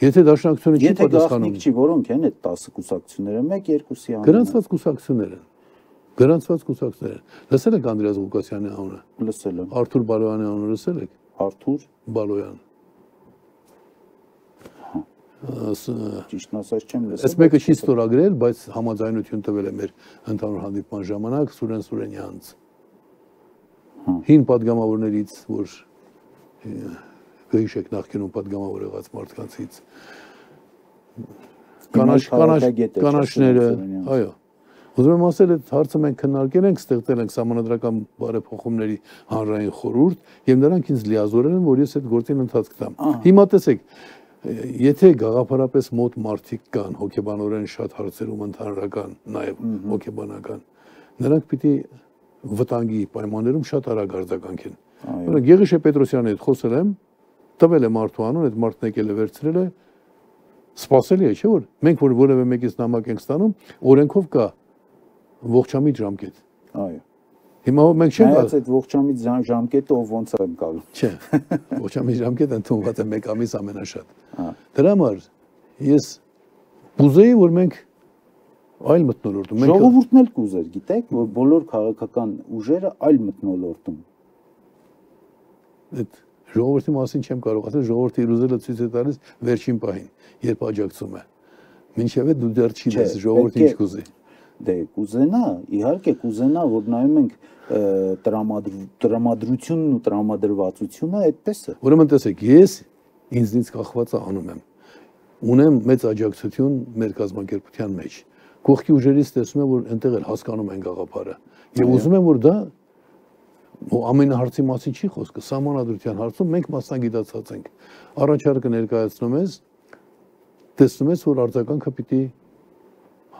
Եթե դաշնակցությունը չի պատասխանում։ Եթե գաղտնիք չի, որոնք են այդ տասը կուսակցությունները, մեկ երկուսի անունը։ Գրանցված կուսակցություններ են։ Գրանցված կուսակցություններ են։ Լսել եք Անդրեաս Ղուկասյանի անունը։ Լսել եմ։ Արթուր Բալոյանի անունը լսել եք։ Արթուր Բալոյան։ Ճիշտն ասած չեմ լսել։ Այս մեկը չի ստորագրել, բայց համաձայնություն տվել է մեր ընդհանուր հանդիպման ժամանակ Սուրեն Սուրենյանց։ Հին падգամավորներից, որ գույշեք նախկինում падգամավոր եղած մարդկանցից։ Կանաչ կանաչները, այո։ Ուզում եմ ասել, այդ հարցը մենք քննարկել ենք, ստեղծել ենք սահմանադրական բարեփոխումների հանրային խորհուրդ, եւ նրանք ինձ լիազորել են, որ ես այդ գործին ընթացք տամ։ Հիմա տեսեք, եթե գաղափարապես մոտ մարդիկ կան, հոգեբանորեն շատ հարցերում ընդհանրական, նաև հոգեբանական, նրանք պիտի վտանգի պայմաններում շատ արագ արձագանքեն։ Օրինակ Գեղիշե Պետրոսյանի հետ խոսել եմ, տվել է մարդու անուն, այդ մարդն եկել է վերցրել է, սպասելի է, չէ՞ որ մենք որ որևէ մեկից նամակ ենք ստանում, օրենքով կա ողջամիտ ժամկետ։ Այո։ Հիմա մենք չենք ասած այդ ողջամիտ ժամկետը ով ոնց եմ կարող։ Չէ, ողջամիտ ժամկետը ընդունված է մեկ ամիս ամենաշատ։ Դրա համար ես կուզեի, որ մենք այլ մթնոլորտում։ Ժողովուրդն էլ կուզեր, գիտեք, որ բոլոր քաղաքական ուժերը այլ մթնոլորտում։ Այդ ժողովրդի մասին չեմ կարող ասել, ժողովրդի իր ուզելը ցույց է տալիս վերջին պահին, երբ աջակցում է։ Մինչև այդ դու դեռ չի դες ժողովրդը ինչ կուզի։ Դե կուզենա, իհարկե կուզենա, որ նայում ենք տրամադրությունն ու տրամադրվածությունը այդպես է։ Ուրեմն տեսեք, ես ինձնից կախվածը անում եմ։ Ունեմ մեծ աջակցություն մեր կազմակերպության մեջ։ Կողքի ուժերից տեսնում եմ, որ այնտեղ էլ հասկանում են գաղափարը։ Եվ ուզում եմ, որ դա ամեն հարցի մասին չի խոսքը, սահմանադրության հարցում մենք մասնագիտացած ենք։ Առաջարկը ներկայացնում ես, տեսնում ես, որ արձագանքը պիտի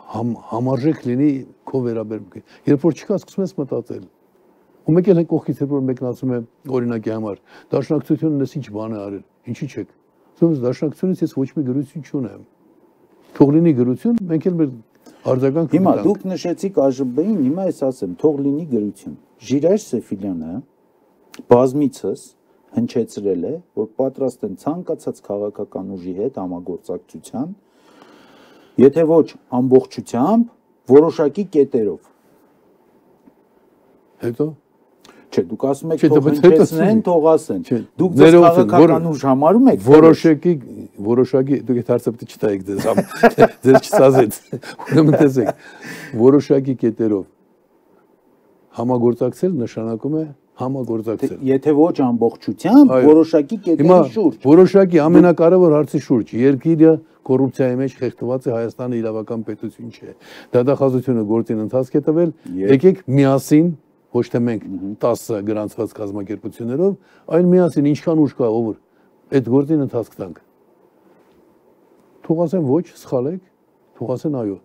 համարժեք լինի քո վերաբերմունքի։ Երբ որ չկա, սկսում ես մտածել։ Ու մեկ էլ կողքից երբ որ մեկն ասում է օրինակի համար, դաշնակցությունն էս ինչ բան է արել, ինչի՞ չեք։ Ասում ես դաշնակցությունից ես ոչ մի գրություն չունեմ։ Թող լինի գրություն, մենք էլ մեր արձագանքը։ Հիմա դուք նշեցիք ԱԺԲ-ին, հիմա ես ասեմ, թող լինի գրություն։ Ժիրայր Սեֆիլյանը բազմիցս հնչեցրել է, որ պատրաստ են ցանկացած քաղաքական ուժի հետ համագործակցության, եթե ոչ ամբողջությամբ, որոշակի կետերով։ Հետո Չէ, դուք ասում եք թող հնչեցնեն, թող ասեն։ Դուք ձեզ քաղաքական ուժ համարում եք։ Որոշակի, որոշակի, դուք այդ հարցը պետք է չտայեք ձեզ, ձեզ չսազեց։ Ուրեմն տեսեք, որոշակի կետերով համագործակցել նշանակում է համագործակցել։ Եթե ոչ ամբողջությամբ, որոշակի կետերի շուրջ։ Որոշակի ամենակարևոր հարցի շուրջ, երկիրը կոռուպցիայի մեջ խեղդված է, Հայաստանը իրավական պետություն չէ։ Դատախազությունը գործին ընթացք է տվել, եկեք միասին, ոչ թե մենք տասը գրանցված կազմակերպություններով, այլ միասին ինչքան ուժ կա, ով այդ գործին ընթացք տանք։ Թող ասեն ոչ, սխալ եք, թող ասեն այո,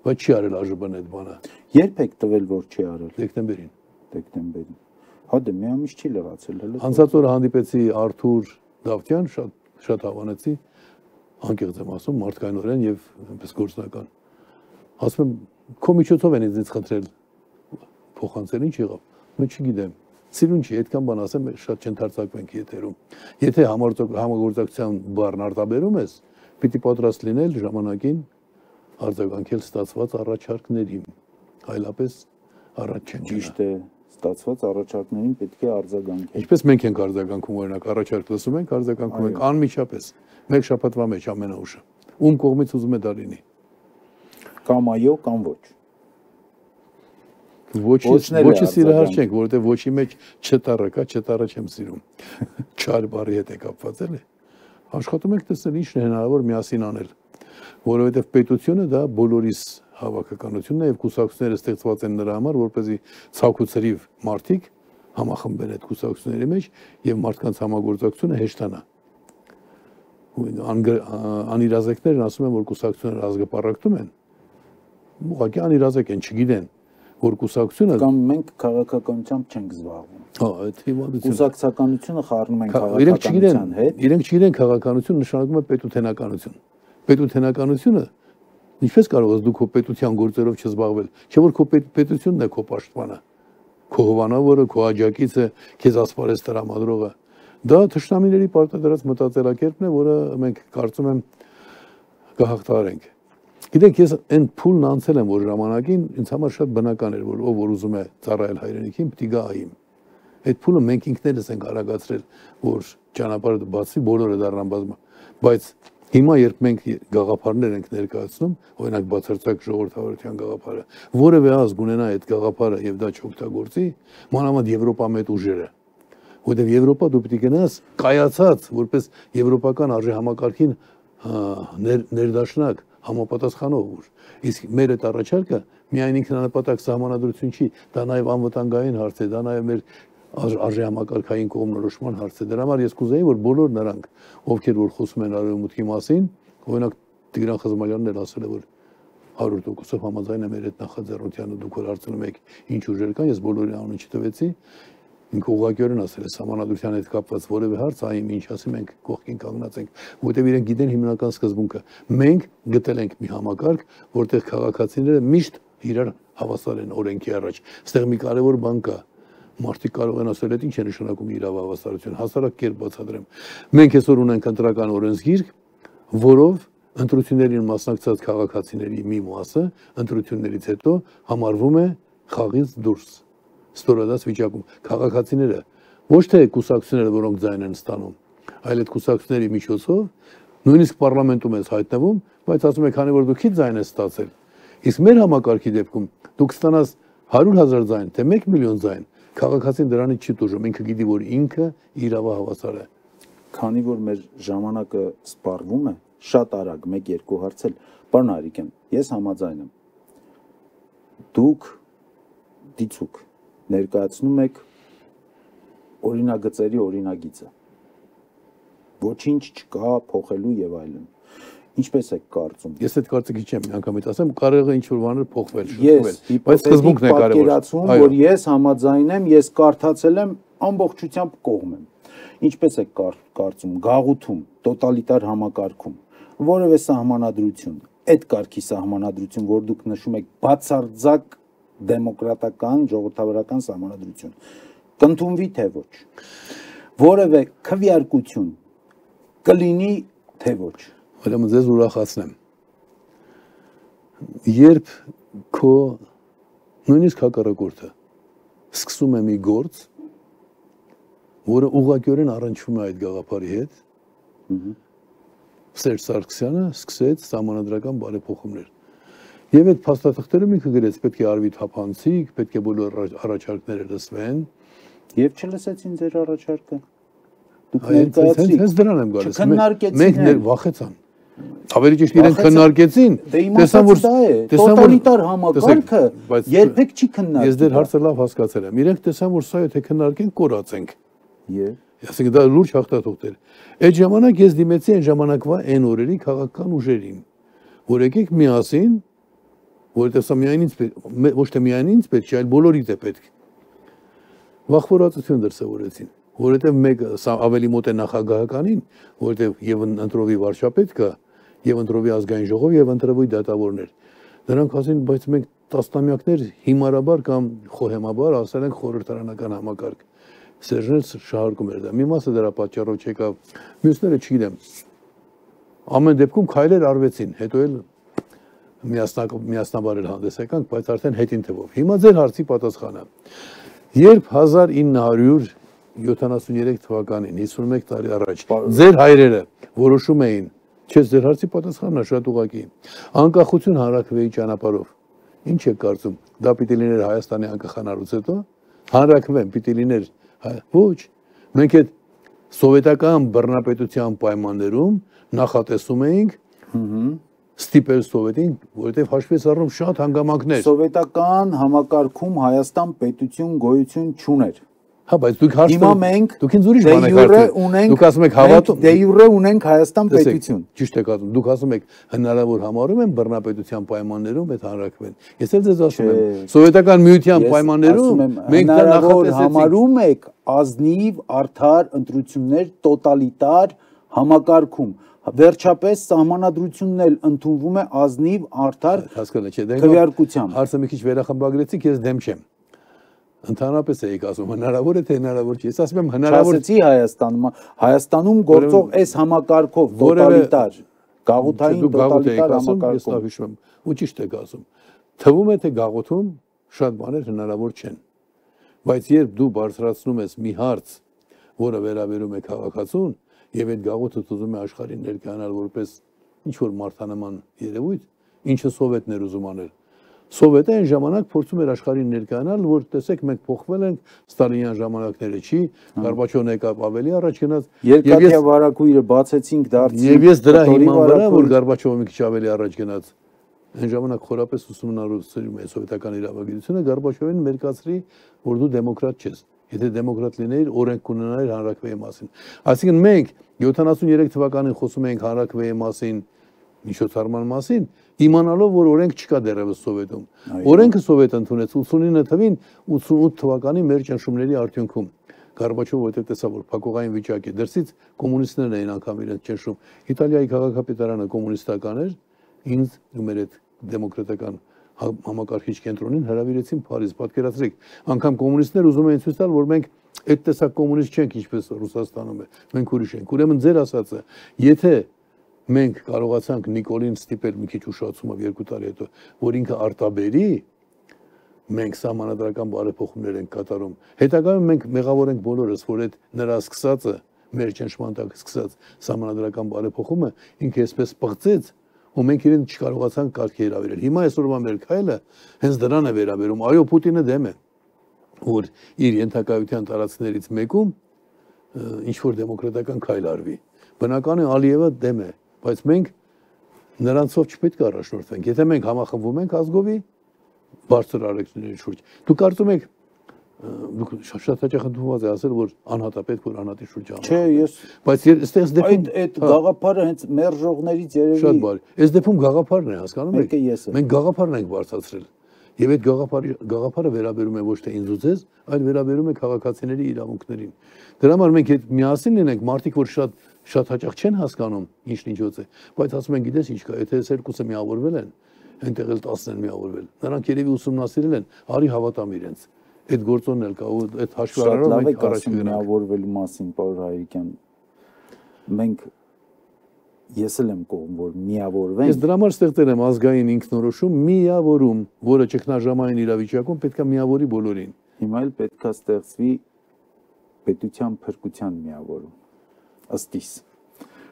բայց չի արել ԱԺԲ-ն այդ բանը։ Երբ եք տվել, որ չի արել։ Դեկտեմբերին։ Դեկտեմբերին։ Հա դե մի ամիս չի լրացել հələ։ Անցած օրը հանդիպեցի Արթուր Դավթյան, շատ շատ հավանեցի, անկեղծ եմ ասում, մարդկայնորեն եւ այնպես գործնական։ Ասում եմ, քո միջոցով են ինձ խնդրել փոխանցել, ինչ եղավ։ Mən չգիտեմ։ Սիրուն չի, այդքան բան ասեմ, շատ չընթարցակվենք եթերում։ Եթե համագործակցության բառն արտաբերում ես, պիտի պատրաստ լինել ժամանակին արձագանքել ստացված առաջարկներին, այլապես առաջ չեն գնա։ Ճիշտ է, ստացված առաջարկներին պետք է արձագանքել։ Ինչպես մենք ենք արձագանքում, օրինակ առաջարկ լսում ենք, արձագանքում ենք անմիջապես, մեկ շաբաթվա մեջ ամենաուշը։ Ում կողմից ուզում է դա լինի։ Կամ այո, կամ ոչ։ Ոչի սիրահար չենք, որովհետև ոչի մեջ չտառը կա, չտառը չեմ սիրում։ Չար բարի հետ է կապված էլի։ Աշխատում ենք տեսնել ինչն է հնարավոր միասին անել, որովհետև պետությունը դա բոլորիս հավաքականությունն է եւ կուսակցությունները ստեղծված են նրա համար, որպեսզի ցակուցրիվ մարդիկ համախմբեն այդ կուսակցությունների մեջ եւ մարդկանց համագործակցությունը հեշտանա։ Անիրազեկներն ասում են, որ կուսակցությունները ազգապարակտում են, ուղղակի անիրազեկ են, չգիտեն, որ կուսակցությունը կամ մենք քաղաքականությամբ չենք զբաղվում։ Հա, այդ հիմարությունը։ Կուսակցականությունը խառնում են Իրենք չգիտեն, քաղաքականության հետ։ իրենք չգիտեն քաղաքականություն նշանակում է պետութենականություն։ Պետութենականությունը ինչպես կարող ես դու քո պետության գործերով չզբաղվել, չէ՞ որ քո պետությունն է քո պաշտպանը, քո հովանավորը, քո աջակիցը, քեզ ասպարեզ տրամադրողը։ Դա թշնամիների պարտադրած մտածելակերպն է, որը մենք կարծում եմ կհաղթահարենք։ Գիտեք, ես այն փուլն անցել եմ, որ ժամանակին ինձ համար շատ բնական էր, որ ով որ ուզում է ծառայել հայրենիքին, պիտի գա այիմ։ Այդ փուլը մենք ինքներս ենք արագացրել, որ ճանապարհը բացվի, բոլորը դառնան բազմա, բայց հիմա երբ մենք գաղափարներ ենք ներկայացնում, օրինակ բացարձակ ժողովրդավարության գաղափարը, որևէ ազգ ունենա այդ գաղափարը եւ դա չօգտագործի, մանավանդ Եվրոպա մեծ ուժերը, որտեղ Եվրոպա դու պիտի գնաս կայացած, որպես եվրոպական արժե համակարգին ներդաշնակ համապատասխանող ուժ։ Իսկ մեր այդ առաջարկը միայն ինքնանպատակ սահմանադրություն չի, դա նաեւ անվտանգային հարց է, դա նաեւ մեր արժե համակարգային կողմնորոշման հարց է։ Դրա համար ես կուզեի, որ բոլոր նրանք, ովքեր որ խոսում են արևմուտքի մասին, օրինակ Տիգրան Խզմալյանն էլ ասել է, որ հարյուր տոկոսով համաձայն է մեր այդ նախաձեռնությանը, դուք որ հարցնում եք ինչ ուժեր կան, ես բոլորի անունը չտվեցի, ինքը ուղղակիորեն ասել է սահմանադրության հետ կապված որևէ հարց, այ ինչ ասի մենք կողքին կանգնած ենք, որտեղ իրենք գիտեն հիմնական սկզբունքը։ Մենք գտել ենք մի համակարգ, որտեղ քաղաքացիները միշտ իրար հավասար են օրենքի առաջ։ Այստեղ մի կարևոր բան կա։ Մարդիկ կարող են ասել, այդ ինչ է նշանակում իրավահավասարություն, հասարակ կերպ բացատրեմ։ Մենք այսօր ունենք ընտրական օրենսգիրք, որով ընտրություններին մասնակցած քաղաքացիների մի մասը ընտրություններից հետո համարվում է խաղից դուրս, ստորադաս վիճակում։ Քաղաքացիները ոչ թե կուսակցությունները, որոնք ձայն են ստանում, այլ այդ կուսակցությունների միջոցով նույնիսկ պարլամենտում ես հայտնվում, բայց ասում եք, քանի որ դու քիչ ձայն ես ստացել, իսկ մեր համակարգի դեպքում դու կստանաս հարյուր հազար ձայն, թե մեկ միլիոն ձայն, քաղաքացին դրանից չի տուժում, ինքը գիտի, որ ինքը իրավահավասար է։ Քանի որ մեր ժամանակը սպառվում է, շատ արագ մեկ-երկու հարցել, պարոն Արիկյան, ես համաձայն եմ։ Դուք դիցուք ներկայացնում եք օրինագծերի օրինագիծը։ Ոչինչ չկա փոխելու եւ այլն։ Ինչպես եք կարծում։ Ես այդ կարծիքի չեմ անգամից ասեմ, կարող է ինչ-որ բաներ փոխվել, շփվել, բայց սկզբունքն է կարևոր։ Որ ես համաձայն եմ, ես կարդացել եմ, ամբողջությամբ կողմ եմ։ Ինչպես եք կարծում, գաղութում, տոտալիտար համակարգում, որևէ սահմանադրություն, այդ կարգի սահմանադրություն, որ դուք նշում եք, բացարձակ դեմոկրատական, ժողովրդավարական սահմանադրություն, կընդունվի թե ոչ։ Որևէ քվեարկություն կլինի թե ոչ։ Ուրեմն ձեզ ուրախացնեմ։ Երբ քո նույնիսկ հակառակորդը սկսում է մի գործ, որը ուղղակիորեն առնչվում է այդ գաղափարի հետ, Սերժ Սարգսյանը սկսեց սահմանադրական բարեփոխումներ։ Եվ այդ փաստաթղթերում ինքը գրեց, պետք է արվի թափանցիկ, պետք է բոլոր առաջարկները լսվեն։ Եվ չլսեցին ձեր առաջարկը։ Դուք ներկայացրիք։ Հենց դրան եմ գալիս։ Մենք վախեցան։ Ավելի ճիշտ իրենք քննարկեցին, տեսան որ տոտալիտար համակարգը երբեք չի քննարկվում։ Ես դեր հարցը լավ հասկացել եմ։ Իրենք տեսան որ սա եթե քննարկենք կորացենք։ Եվ ասենք դա լուրջ հաղթաթուղթ էր։ Այդ ժամանակ ես դիմեցի այն ժամանակվա այն օրերի քաղաքական ուժերին, որ եկեք միասին, որովհետև սա միայն ինձ ոչ թե միայն ինձ պետք չէ, այլ բոլորիդ է պետք։ Վախվորածություն դրսևորեցին, որովհետև մեկը սա ավելի մոտ է նախագահականին, որովհետև եւ ընտրովի վարչապետ կա, եւ ընտրովի ազգային ժողով եւ ընտրովի դատավորներ։ Նրանք ասին, բայց մենք տասնամյակներ հիմարաբար կամ խոհեմաբար ասել ենք խորհրդարանական համակարգ։ Սերժն շահարկում էր դա։ Մի մասը դրա պատճառով չեկավ, մյուսները չգիտեմ։ Ամեն դեպքում քայլեր արվեցին, հետո էլ միասնաբար էլ հանդես եկանք, բայց արդեն հետին թվով։ Հիմա ձեր հարցի պատասխանը։ Երբ հազար ինը հարյուր յոթանասուներեք թվականին, հիսունմեկ տարի առաջ, ձեր հայրերը որոշում էին, չես ձեր հարցի պատասխանն է շատ ուղղակի, անկախություն հանրաքվեի ճանապարհով, ինչ եք կարծում, դա պիտի լիներ Հայաստանի անկախանալուց հետո, հանրաքվեն պիտի լիներ, ոչ, մենք այդ սովետական բռնապետության պայմաններում նախատեսում էինք ստիպել Սովետին, որովհետև հաշվեց առնում շատ հանգամանքներ։ Սովետական համակարգում Հայաստան պետություն գոյություն չուներ։ Հա, բայց դուք հաշվեք, հիմա մենք դուք ինձ ուրիշ բան եք հարցնում։ Դուք ասում եք հավատում, դե յուրե ունենք Հայաստան պետություն։ Ճիշտ եք ասում, դուք ասում եք հնարավոր համարում են բռնապետության պայմաններում այդ հանրաքվեն։ Ես էլ ձեզ ասում եմ, սովետական միության պայմաններում մենք դա նախատեսեցինք։ Համարում եք ազնիվ, արդար ընտրություններ տոտալիտար համակարգում։ Վերջապես սահմանադրությունն էլ ընդունվում է ազնիվ, արդար քվեարկությամբ։ Հարցը մի քիչ վերախմբագրեցիք, ես դեմ չեմ։ Ընդհանրապես էիք ասում, հնարավոր է թե հնարավոր չի։ Ես ասում եմ հնարավոր Չասեցի Հայաստանում, Հայաստանում գործող այս համակարգով տոտալիտար, գաղութային տոտալիտար համակարգով։ Ես լավ հիշում եմ, ու ճիշտ եք ասում։ Թվում է թե գաղութում շատ բաներ հնարավոր չեն։ Բայց երբ դու բարձրացնում ես մի հարց, որը վերաբերում է քաղաքացուն, եւ այդ գաղութը ուզում է աշխարհին ներկայանալ որպես ինչ որ մարդանման երևույթ, ինչը սովետներ ուզում անել։ Սովետը այն ժամանակ փորձում էր աշխարհին ներկայանալ, որ տեսեք մենք փոխվել ենք ստալինյան ժամանակները չի, Գորբաչովն եկավ ավելի առաջ գնաց, երկաթյա վարակույրը բացեցինք դարձի։ Եվ ես դրա հիման վրա, որ Գորբաչովը մի քիչ ավելի առաջ գնաց, այն ժամանակ խորապես ուսումնառում է սովետական իրավագիտությունը, Գորբաչովին մերկացրի, որ դու դեմոկրատ չես։ Եթե դեմոկրատ լինեիր, օրենք կունենայիր հանրաքվեի մասին։ Այսինքն մենք յոթանասուներեք թվականին խոսում էինք հանրաքվեի մասին, միջոցառման մասին, իմանալով, որ օրենք չկա դեռևս Սովետում։ Օրենքը Սովետը ընդունեց ութսունինը թվին, ութսունութ թվականի մեր ճնշումների արդյունքում։ Գորբաչովը որտեղ տեսավ, որ փակուղային վիճակ է, դրսից կոմունիստներն էին անգամ իրենց ճնշում։ Իտալիայի քաղաքապետարանը կոմունիստական էր, ինձ ու մեր այդ դեմոկրատական համակարգիչ կենտրոնին հրավիրեցին Փարիզ, պատկերացրեք, անգամ կոմունիստներ ուզում էին ցույց տալ, որ մենք այդ տեսակ կոմունիստ չենք, ինչպես Ռուսաստանում է, մենք ուրիշ ենք։ Ուրեմն ձեր ասածը, եթե մենք կարողացանք Նիկոլին ստիպել մի քիչ ուշացումով երկու տարի հետո, որ ինքը արտաբերի, մենք սահմանադրական բարեփոխումներ ենք կատարում։ Հետագայում մենք մեղավոր ենք բոլորս, որ այդ նրա սկսածը, մեր ճնշման տակ սկսած սահմանադրական բարեփոխումը ինքը այսպես պղծեց, ու մենք իրեն չկարողացանք կարգի հրավիրել։ Հիմա այսօրվա մեր քայլը հենց դրան է վերաբերում։ Այո, Պուտինը դեմ է, որ իր ենթակայության տարածքներից մեկում ինչ որ դեմոկրատական քայլ արվի։ Բնական է Ալիևը դեմ է, բայց մենք նրանցով չպետք է առաջնորդվենք։ Եթե մենք համախմբվում ենք ազգովի բարձր արժեքների շուրջ, դուք կարծում եք դուք շատ հաճախ ընդունված է ասել, որ անհատապետք որ անհատի շուրջ անում։ Չէ, ես բայց այստեղս դեպքում այդ գաղափարը հենց մերժողներից երևի շատ բարի։ Այս դեպքում գաղափարն է, հասկանում եք։ Մեկը ես եմ։ Մենք գաղափարն ենք բարձրացրել։ Եվ այդ գաղափարի գաղափարը վերաբերում է ոչ թե ինձ ու ձեզ, այլ վերաբերում է քաղաքացիների իրավունքներին։ Դրա համար մենք այդ միասին լինենք, մարդիկ որ շատ շատ հաճախ չեն հասկանում ինչն ինչոց է, բայց ասում են գիտես ինչ կա, եթե այս երկուսը միավորվել են, այնտեղ էլ տասն են միավորվել։ Նրանք երևի ուսումնասիրել են, արի հավատամ իրենց։ Այդ գործոնն էլ կա ու այդ հաշվի առնելով մենք առաջ կգնանք։ Միավորվելու մասին, պարոն Հայրիկյան, մենք ես էլ եմ կողմ, որ միավորվենք։ Ես դրա համար ստեղծել եմ ազգային ինքնորոշում միավորում, որը ճգնաժամային իրավիճակում պետք է միավորի բոլորին։ Հիմա էլ պետք է ստեղծվի պետության փրկության միավորում, ըստ իս։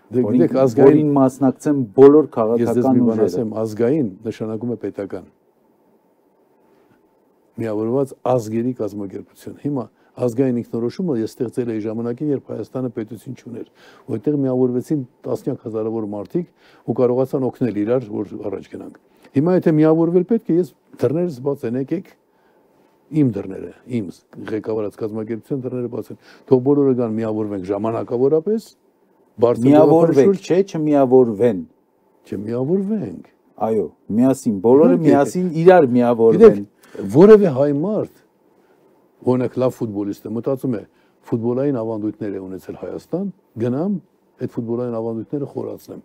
Դե գիտեք ազգային մասնակցեն բոլոր քաղաքական ուժերը։ Ես ասեմ ազգային նշանակում է պետական։ Միավորված ազգերի կազմակերպություն։ Հիմա ազգային ինքնորոշումը ես ստեղծել էի ժամանակին, երբ Հայաստանը պետություն չուներ, որտեղ միավորվեցին տասնյակ հազարավոր մարդիկ ու կարողացան օգնել իրար, որ առաջ գնանք։ Հիմա եթե միավորվել պետք է, ես դռներս բաց են, եկեք իմ դռները, իմ ղեկավարած կազմակերպության դռները բաց են։ Թող բոլորը գան միավորվենք ժամանակավորապես, միավորվենք, չէ, չմիավորվեն։ Չմիավորվենք։ Այո, միասին, բոլորը միասին իրար միավորվեն։ Որևէ հայ մարդ, օրինակ լավ ֆուտբոլիստ է, մտածում է ֆուտբոլային ավանդույթներ է ունեցել Հայաստան, գնամ այդ ֆուտբոլային ավանդույթները խորացնեմ։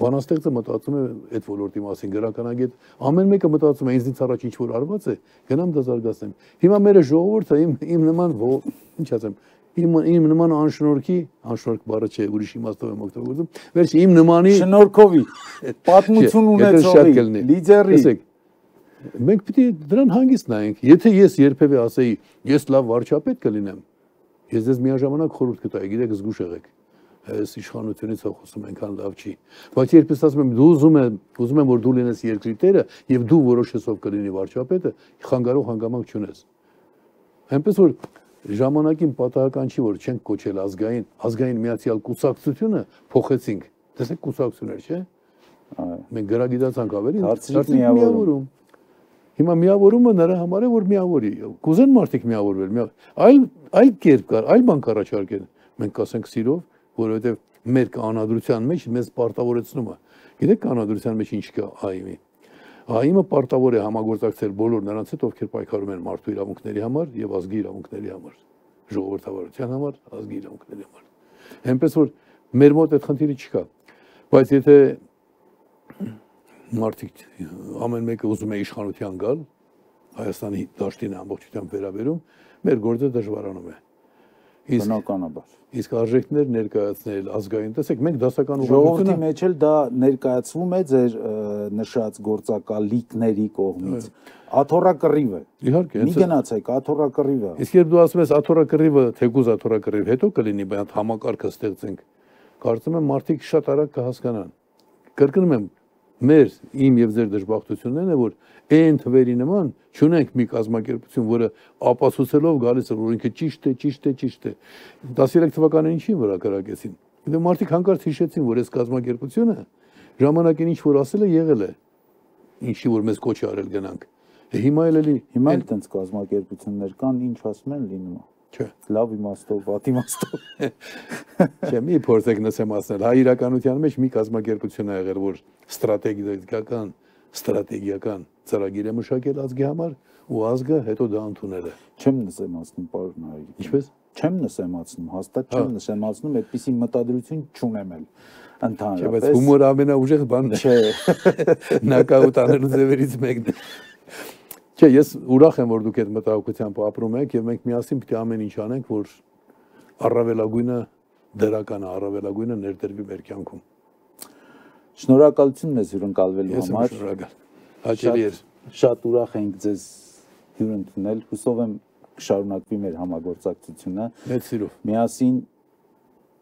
Բանաստեղծը մտածում է այդ ոլորտի մասին, գրականագետ, ամեն մեկը մտածում է ինձնից առաջ ինչ որ արված է, գնամ դա զարգացնեմ։ Հիմա մեր ժողովուրդը իմ իմ նման, ինչ ասեմ, Իմ իմ նման անշնորհքի, անշնորհք բառը չէ, ուրիշ իմաստով եմ օգտագործում։ Վերջ իմ նմանի շնորհքովի պատմություն ունեցողի լիդերի։ Մենք պիտի դրան հանգիստ նայենք։ Եթե ես երբևէ ասեի, ես լավ վարչապետ կլինեմ, ես ձեզ միաժամանակ խորհուրդ կտայի, գիտեք, զգուշ եղեք։ Այս իշխանությունից խոսում այնքան լավ չի։ Բայց երբ ես ասում եմ, դու ուզում ես, ուզում եմ, որ դու լինես երկրի տերը եւ դու որոշես ով կլինի վարչապետը, խանգարող հանգամանք չունես։ Այնպես որ ժամանակին պատահական չի, որ չենք կոչել ազգային, ազգային միացյալ կուսակցությունը փոխեցինք։ Տեսեք կուսակցություններ, չէ՞։ Մենք գրագիտացանք ավելի, դարձրինք միավորում։ Հիմա միավորումը նրա համար է, որ միավորի։ Կուզեն մարդիկ միավորվել, այլ այլ կերպ կար, այլ բան կառաջարկեն։ Մենք կասենք սիրով, որովհետև մեր կանոնադրության մեջ մեզ պարտավորեցնում է։ Գիտեք կանոնադրության մեջ ինչ կա ԱԻՄ-ի։ ԱԻՄ-ը պարտավոր է համագործակցել բոլոր նրանց հետ, ովքեր պայքարում են մարդու իրավունքների համար եւ ազգի իրավունքների համար, ժողովրդավարության համար, ազգի իրավունքների համար։ Այնպես որ մեր մոտ այդ խնդիրը չկա։ Բայց եթե մարդիկ ամեն մեկը ուզում է իշխանության գալ, Հայաստանի դաշտին ամբողջությամբ վերաբերում, մեր գործը դժվարանում է։ Բնականաբար։ Իսկ արժեքներ ներկայացնել ազգային, տեսեք, մենք դասական ժողովրդի մեջ էլ դա ներկայացվում է ձեր նշած գործակալիկների կողմից։ Աթոռակռիվ է։ Իհարկե, մի գնացեք, աթոռակռիվ է։ Իսկ երբ դու ասում ես աթոռակռիվը, թեկուզ աթոռակռիվ հետո կլինի, բայց համակարգը ստեղծենք, կարծում եմ մարդիկ շատ արագ կհասկանան։ Կրկնում եմ, մեր իմ եւ ձեր դժբախտությունն է, որ այն թվերի նման չունենք մի կազմակերպություն, որը ապացուցելով գալիս է, որ ինքը ճիշտ է, ճիշտ է, ճիշտ է։ տասներեք թվականին ինչի վրա կրակեցին։ Դե մարդիկ հանկարծ հիշեցին, որ այս կազմակերպությունը ժամանակին ինչ որ ասել է, եղել է։ Ինչի որ մեզ կոչ է արել գնանք։ Հիմա էլ էլի հիմա էլ տենց կազմակերպություններ կան, ինչ ասում են լինում է։ Չէ։ Լավ իմաստով, վատ իմաստով։ Չէ, մի փորձեք նսեմ ասել, հայ իրականության մեջ մի կազմակերպություն է եղել, որ ստրատեգիական, ստրատեգիական ծրագիր է մշակել ազգի համար ու ազգը հետո դա ընդունել է։ Չեմ նսեմացնում, պարոն Հայրիկ։ Ինչպես։ Չեմ նսեմացնում, հաստատ չեմ նսեմացնում, այդպիսի մտադրություն չունեմ էլ ընդհանրապես։ Բայց հումորը ամենաուժեղ բանն է։ Չէ։ Նոկաուտ անելու ձևերից մեկն է։ Չէ, ես ուրախ եմ, որ դուք այդ մտահոգությամբ ապրում եք եւ մենք միասին պետք է ամեն ինչ անենք, որ առավելագույնը դրականը, առավելագույնը ներդրվի մեր կյանքում։ Շնորհակալություն մեզ հյուրընկալվելու համար։ Ես շնորհակալ։ Հաճելի էր։ Շատ ուրախ ենք ձեզ հյուր ընդունել։ Հուսով եմ կշարունակվի մեր համագործակցությունը։ Մեծ սիրով։ Միասին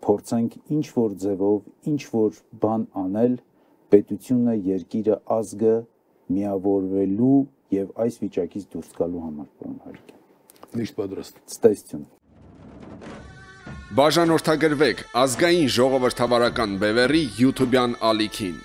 փորձենք ինչ որ ձևով, ինչ որ բան անել պետությունը, երկիրը, ազգը միավորվելու եւ այս վիճակից դուրս գալու համար, պարոն Հայրիկ։ Միշտ պատրաստ։ Ցտեսություն։ Բաժանորդագրվեք ազգային ժողովրդավարական բևեռի YouTube-յան ալիքին։